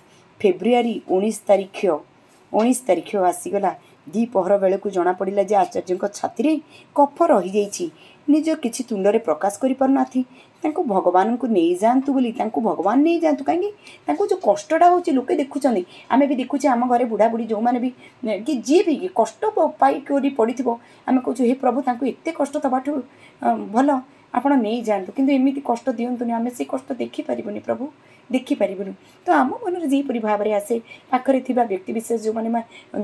ଫେବୃଆରୀ ଉଣେଇଶ ତାରିଖ, ଉଣେଇଶ ତାରିଖ ଆସିଗଲା। ଦ୍ୱିପହର ବେଳକୁ ଜଣାପଡ଼ିଲା ଯେ ଆଚାର୍ଯ୍ୟଙ୍କ ଛାତିରେ କଫ ରହିଯାଇଛି। ନିଜ କିଛି ତୁଣ୍ଡରେ ପ୍ରକାଶ କରିପାରୁନାହାନ୍ତି। ତାଙ୍କୁ ଭଗବାନଙ୍କୁ ନେଇଯାଆନ୍ତୁ ବୋଲି, ତାଙ୍କୁ ଭଗବାନ ନେଇଯାଆନ୍ତୁ। କାହିଁକି? ତାଙ୍କୁ ଯେଉଁ କଷ୍ଟଟା ହେଉଛି ଲୋକେ ଦେଖୁଛନ୍ତି, ଆମେ ବି ଦେଖୁଛେ। ଆମ ଘରେ ବୁଢ଼ା ବୁଢ଼ୀ ଯେଉଁମାନେ ବି କି ଯିଏ ବି କଷ୍ଟ ପାଇକରି ପଡ଼ିଥିବ, ଆମେ କହୁଛୁ, ହେ ପ୍ରଭୁ, ତାଙ୍କୁ ଏତେ କଷ୍ଟ ଦେବାଠୁ ଭଲ ଆପଣ ନେଇଯାଆନ୍ତୁ, କିନ୍ତୁ ଏମିତି କଷ୍ଟ ଦିଅନ୍ତୁନି, ଆମେ ସେ କଷ୍ଟ ଦେଖିପାରିବୁନି ପ୍ରଭୁ, ଦେଖିପାରିବୁନି। ତ ଆମ ମନରେ ଯେହିପରି ଭାବରେ ଆସେ, ପାଖରେ ଥିବା ବ୍ୟକ୍ତିବିଶେଷ ଯେଉଁମାନେ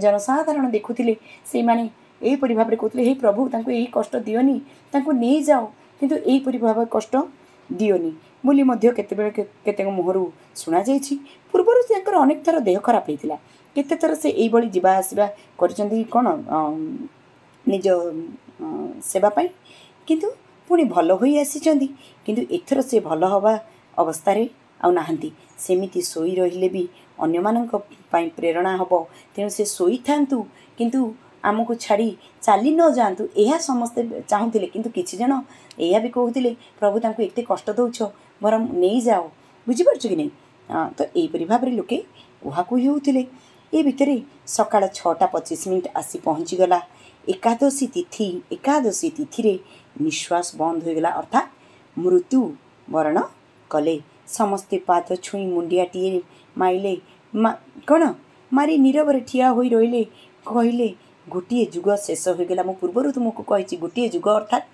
ଜନସାଧାରଣ ଦେଖୁଥିଲେ, ସେଇମାନେ ଏହିପରି ଭାବରେ କହୁଥିଲେ, ହେ ପ୍ରଭୁ, ତାଙ୍କୁ ଏହି କଷ୍ଟ ଦିଅନି, ତାଙ୍କୁ ନେଇଯାଅ, କିନ୍ତୁ ଏହିପରି ଭାବେ କଷ୍ଟ ଦିଅନି ବୋଲି ମଧ୍ୟ କେତେବେଳେ କେତେକ ମୁହଁରୁ ଶୁଣାଯାଇଛି। ପୂର୍ବରୁ ତାଙ୍କର ଅନେକ ଥର ଦେହ ଖରାପ ହେଇଥିଲା। କେତେଥର ସେ ଏଇଭଳି ଯିବା ଆସିବା କରିଛନ୍ତି କ'ଣ ନିଜ ସେବା ପାଇଁ, କିନ୍ତୁ ପୁଣି ଭଲ ହୋଇ ଆସିଛନ୍ତି। କିନ୍ତୁ ଏଥର ସେ ଭଲ ହେବା ଅବସ୍ଥାରେ ଆଉ ନାହାନ୍ତି। ସେମିତି ଶୋଇ ରହିଲେ ବି ଅନ୍ୟମାନଙ୍କ ପାଇଁ ପ୍ରେରଣା ହେବ। ତେଣୁ ସେ ଶୋଇଥାନ୍ତୁ, କିନ୍ତୁ ଆମକୁ ଛାଡ଼ି ଚାଲି ନ ଯାଆନ୍ତୁ, ଏହା ସମସ୍ତେ ଚାହୁଁଥିଲେ। କିନ୍ତୁ କିଛି ଜଣ ଏହା ବି କହୁଥିଲେ, ପ୍ରଭୁ, ତାଙ୍କୁ ଏତେ କଷ୍ଟ ଦେଉଛ, ବରଂ ନେଇଯାଅ। ବୁଝିପାରୁଛ କି ନାହିଁ? ତ ଏହିପରି ଭାବରେ ଲୋକେ କୁହାକୁହି ହେଉଥିଲେ। ଏ ଭିତରେ ସକାଳ ଛଅଟା ପଚିଶ ମିନିଟ୍ ଆସି ପହଞ୍ଚିଗଲା। ଏକାଦଶୀ ତିଥି, ଏକାଦଶୀ ତିଥିରେ ନିଶ୍ୱାସ ବନ୍ଦ ହୋଇଗଲା, ଅର୍ଥାତ୍ ମୃତ୍ୟୁ ବରଣ କଲେ। ସମସ୍ତେ ପାଦ ଛୁଇଁ ମୁଣ୍ଡିଆଟିଏ ମାଇଲେ, କ'ଣ ମାରି ନୀରବରେ ଠିଆ ହୋଇ ରହିଲେ। କହିଲେ, ଗୋଟିଏ ଯୁଗ ଶେଷ ହୋଇଗଲା। ମୁଁ ପୂର୍ବରୁ ତୁମକୁ କହିଛି, ଗୋଟିଏ ଯୁଗ ଅର୍ଥାତ୍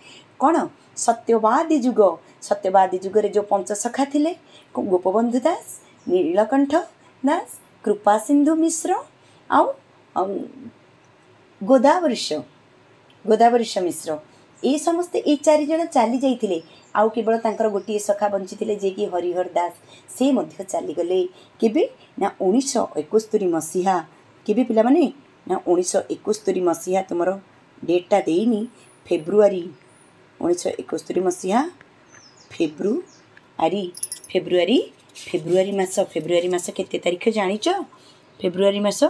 କ'ଣ? ସତ୍ୟବାଦୀ ଯୁଗ। ସତ୍ୟବାଦୀ ଯୁଗରେ ଯେଉଁ ପଞ୍ଚସଖା ଥିଲେ, ଗୋପବନ୍ଧୁ ଦାସ, ନୀଳକଣ୍ଠ ଦାସ, କୃପାସିନ୍ଧୁ ମିଶ୍ର ଆଉ ଗୋଦାବରୀଶ ଗୋଦାବରୀଶ ମିଶ୍ର, ଏ ସମସ୍ତେ ଏଇ ଚାରିଜଣ ଚାଲି ଯାଇଥିଲେ। ଆଉ କେବଳ ତାଙ୍କର ଗୋଟିଏ ସଖା ବଞ୍ଚିଥିଲେ, ଯିଏକି ହରିହର ଦାସ। ସେ ମଧ୍ୟ ଚାଲିଗଲେ। କେବେ ନା ଉଣେଇଶହ ଏକସ୍ତରୀ ମସିହା। କେବେ ପିଲାମାନେ? ନା ଉଣେଇଶହ ଏକସ୍ତରୀ ମସିହା। ତୁମର ଡେଟ୍ଟା ଦେଇନି। ଫେବୃଆରୀ, ଉଣେଇଶହ ଏକସ୍ତରୀ ମସିହା ଫେବୃଆରୀ ଫେବୃଆରୀ ଫେବୃଆରୀ ମାସ। ଫେବୃଆରୀ ମାସ କେତେ ତାରିଖ ଜାଣିଛ? ଫେବୃଆରୀ ମାସ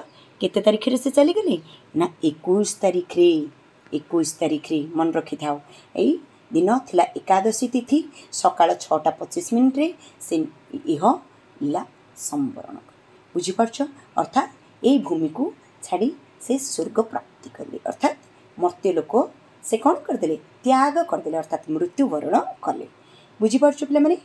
କେତେ ତାରିଖରେ ସେ ଚାଲିଗଲେ? ନା ଏକୋଇଶ ତାରିଖରେ, ଏକୋଇଶ ତାରିଖରେ। ମନେ ରଖିଥାଅ, ଏଇ ଦିନ ଥିଲା ଏକାଦଶୀ ତିଥି, ସକାଳ ଛଅଟା ପଚିଶ ମିନିଟ୍ରେ ସେ ଇହ ଲୀଳା ସମ୍ବରଣ କଲେ। ବୁଝିପାରୁଛ? ଅର୍ଥାତ୍ ଏଇ ଭୂମିକୁ ଛାଡ଼ି ସେ ସ୍ୱର୍ଗ ପ୍ରାପ୍ତି କଲେ, ଅର୍ଥାତ୍ ମର୍ତ୍ତ୍ୟ ଲୋକ ସେ କ'ଣ କରିଦେଲେ? ତ୍ୟାଗ କରିଦେଲେ, ଅର୍ଥାତ୍ ମୃତ୍ୟୁବରଣ କଲେ। ବୁଝିପାରୁଛ ପିଲାମାନେ?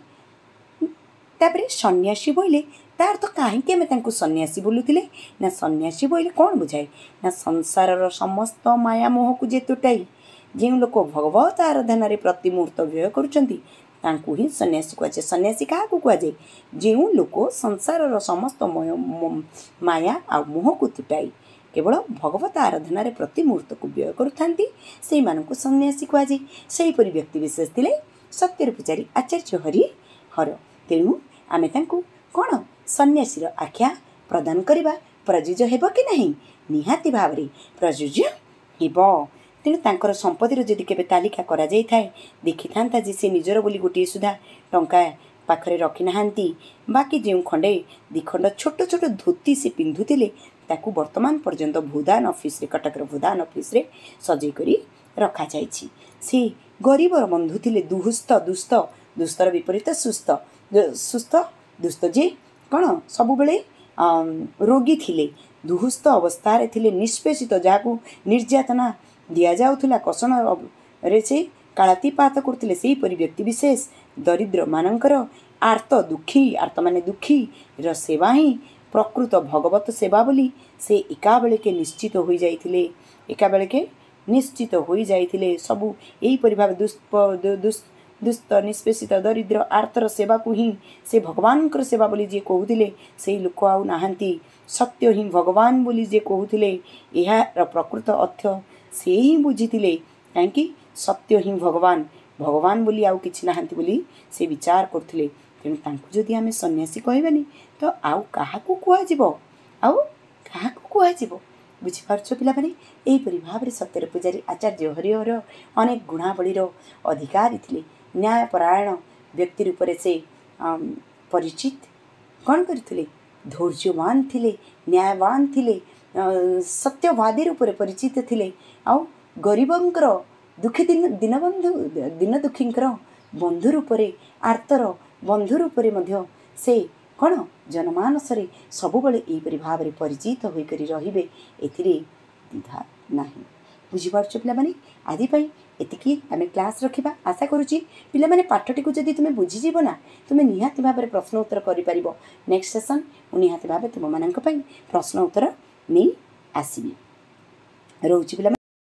ତାପରେ ସନ୍ନ୍ୟାସୀ ବୋଇଲେ ତା ଅର୍ଥ, କାହିଁକି ଆମେ ତାଙ୍କୁ ସନ୍ନ୍ୟାସୀ ବୋଲୁଥିଲେ? ନା ସନ୍ନ୍ୟାସୀ ବୋଇଲେ କ'ଣ ବୁଝାଏ? ନା ସଂସାରର ସମସ୍ତ ମାୟା ମୋହକୁ ଯେ ତୁଟାଇ ଯେଉଁ ଲୋକ ଭଗବତ ଆରାଧନାରେ ପ୍ରତି ମୁହୂର୍ତ୍ତ ବ୍ୟୟ କରୁଛନ୍ତି, ତାଙ୍କୁ ହିଁ ସନ୍ନ୍ୟାସୀ କୁହାଯାଏ। ସନ୍ନ୍ୟାସୀ କାହାକୁ କୁହାଯାଏ? ଯେଉଁ ଲୋକ ସଂସାରର ସମସ୍ତ ମାୟା ଆଉ ମୋହକୁ ତୁଟାଇ କେବଳ ଭଗବତ ଆରାଧନାରେ ପ୍ରତି ମୁହୂର୍ତ୍ତକୁ ବ୍ୟୟ କରୁଥାନ୍ତି, ସେଇମାନଙ୍କୁ ସନ୍ନ୍ୟାସୀ କୁହାଯାଏ। ସେହିପରି ବ୍ୟକ୍ତିବିଶେଷ ଥିଲେ ସତ୍ୟର ପୂଜାରୀ ଆଚାର୍ଯ୍ୟ ହରିହର। ତେଣୁ ଆମେ ତାଙ୍କୁ କ'ଣ ସନ୍ନ୍ୟାସୀର ଆଖ୍ୟା ପ୍ରଦାନ କରିବା ପ୍ରଯୁଜ୍ୟ ହେବ କି ନାହିଁ? ନିହାତି ଭାବରେ ପ୍ରଯୁଜ୍ୟ ହେବ। ତେଣୁ ତାଙ୍କର ସମ୍ପତ୍ତିର ଯଦି କେବେ ତାଲିକା କରାଯାଇଥାଏ, ଦେଖିଥାନ୍ତା ଯେ ସେ ନିଜର ବୋଲି ଗୋଟିଏ ସୁଦ୍ଧା ଟଙ୍କା ପାଖରେ ରଖିନାହାନ୍ତି। ବାକି ଯେଉଁ ଖଣ୍ଡେ ଦୁଇଖଣ୍ଡ ଛୋଟ ଛୋଟ ଧୋତି ସେ ପିନ୍ଧୁଥିଲେ, ତାକୁ ବର୍ତ୍ତମାନ ପର୍ଯ୍ୟନ୍ତ ଭୂଦାନ ଅଫିସରେ, କଟକର ଭୂଦାନ ଅଫିସରେ ସଜେଇ କରି ରଖାଯାଇଛି। ସେ ଗରିବର ବନ୍ଧୁ ଥିଲେ। ଦୁଃସ୍ଥ, ଦୁସ୍ଥ, ଦୁସ୍ଥର ବିପରୀତ ସୁସ୍ଥ, ସୁସ୍ଥ, ଦୁସ୍ଥ ଯେ କ'ଣ ସବୁବେଳେ ରୋଗୀ ଥିଲେ, ଦୁଃସ୍ଥ ଅବସ୍ଥାରେ ଥିଲେ, ନିଷ୍ପେଷିତ, ଯାହାକୁ ନିର୍ଯାତନା ଦିଆଯାଉଥିଲା, କଷଣରେ ସେ କାଳାତିପାତ କରୁଥିଲେ, ସେହିପରି ବ୍ୟକ୍ତିବିଶେଷ ଦରିଦ୍ରମାନଙ୍କର ଆର୍ତ୍ତ ଦୁଃଖୀ, ଆର୍ତ୍ତ ମାନେ ଦୁଃଖୀର ସେବା ହିଁ ପ୍ରକୃତ ଭଗବତ ସେବା ବୋଲି ସେ ଏକାବେଳକେ ନିଶ୍ଚିତ ହୋଇଯାଇଥିଲେ, ଏକାବେଳକେ ନିଶ୍ଚିତ ହୋଇଯାଇଥିଲେ। ସବୁ ଏହିପରି ଭାବେ ଦୁସ୍ଥ, ନିଷ୍ପେଷିତ, ଦରିଦ୍ର, ଆର୍ତ୍ତର ସେବାକୁ ହିଁ ସେ ଭଗବାନଙ୍କର ସେବା ବୋଲି ଯିଏ କହୁଥିଲେ, ସେଇ ଲୋକ ଆଉ ନାହାନ୍ତି। ସତ୍ୟ ହିଁ ଭଗବାନ ବୋଲି ଯିଏ କହୁଥିଲେ, ଏହାର ପ୍ରକୃତ ଅର୍ଥ ସେ ହିଁ ବୁଝିଥିଲେ। କାହିଁକି? ସତ୍ୟ ହିଁ ଭଗବାନ, ଭଗବାନ ବୋଲି ଆଉ କିଛି ନାହାନ୍ତି ବୋଲି ସେ ବିଚାର କରୁଥିଲେ। ତେଣୁ ତାଙ୍କୁ ଯଦି ଆମେ ସନ୍ନ୍ୟାସୀ କହିବାନି ତ ଆଉ କାହାକୁ କୁହାଯିବ? ଆଉ କାହାକୁ କୁହାଯିବ? ବୁଝିପାରୁଛ ପିଲାମାନେ? ଏହିପରି ଭାବରେ ସତ୍ୟର ପୂଜାରୀ ଆଚାର୍ଯ୍ୟ ହରିହର ଅନେକ ଗୁଣାବଳୀର ଅଧିକାରୀ ଥିଲେ। ନ୍ୟାୟପରାୟଣ ବ୍ୟକ୍ତି ରୂପରେ ସେ ପରିଚିତ କ'ଣ କରିଥିଲେ? ଧୈର୍ଯ୍ୟବାନ ଥିଲେ, ନ୍ୟାୟବାନ ଥିଲେ, ସତ୍ୟବାଦୀ ରୂପରେ ପରିଚିତ ଥିଲେ, ଆଉ ଗରିବଙ୍କର ଦୁଃଖୀ ଦିନ ଦୀନବନ୍ଧୁ ଦୀନ ଦୁଃଖୀଙ୍କର ବନ୍ଧୁ ରୂପରେ, ଆର୍ତ୍ତର ବନ୍ଧୁ ରୂପରେ ମଧ୍ୟ ସେ କ'ଣ ଜନମାନସରେ ସବୁବେଳେ ଏହିପରି ଭାବରେ ପରିଚିତ ହୋଇକରି ରହିବେ, ଏଥିରେ ଦ୍ୱିଧା ନାହିଁ। ବୁଝିପାରୁଛ ପିଲାମାନେ? ଆଜି ପାଇଁ ଏତିକି ଆମେ କ୍ଲାସ୍ ରଖିବା। ଆଶା କରୁଛି ପିଲାମାନେ, ପାଠଟିକୁ ଯଦି ତୁମେ ବୁଝିଯିବ ନା, ତୁମେ ନିହାତି ଭାବରେ ପ୍ରଶ୍ନ ଉତ୍ତର କରିପାରିବ। ନେକ୍ସଟ ସେସନ୍ ମୁଁ ନିହାତି ଭାବେ ତୁମମାନଙ୍କ ପାଇଁ ପ୍ରଶ୍ନ ଉତ୍ତର ନେଇ ଆସିବି। ରହୁଛି ପିଲାମାନେ।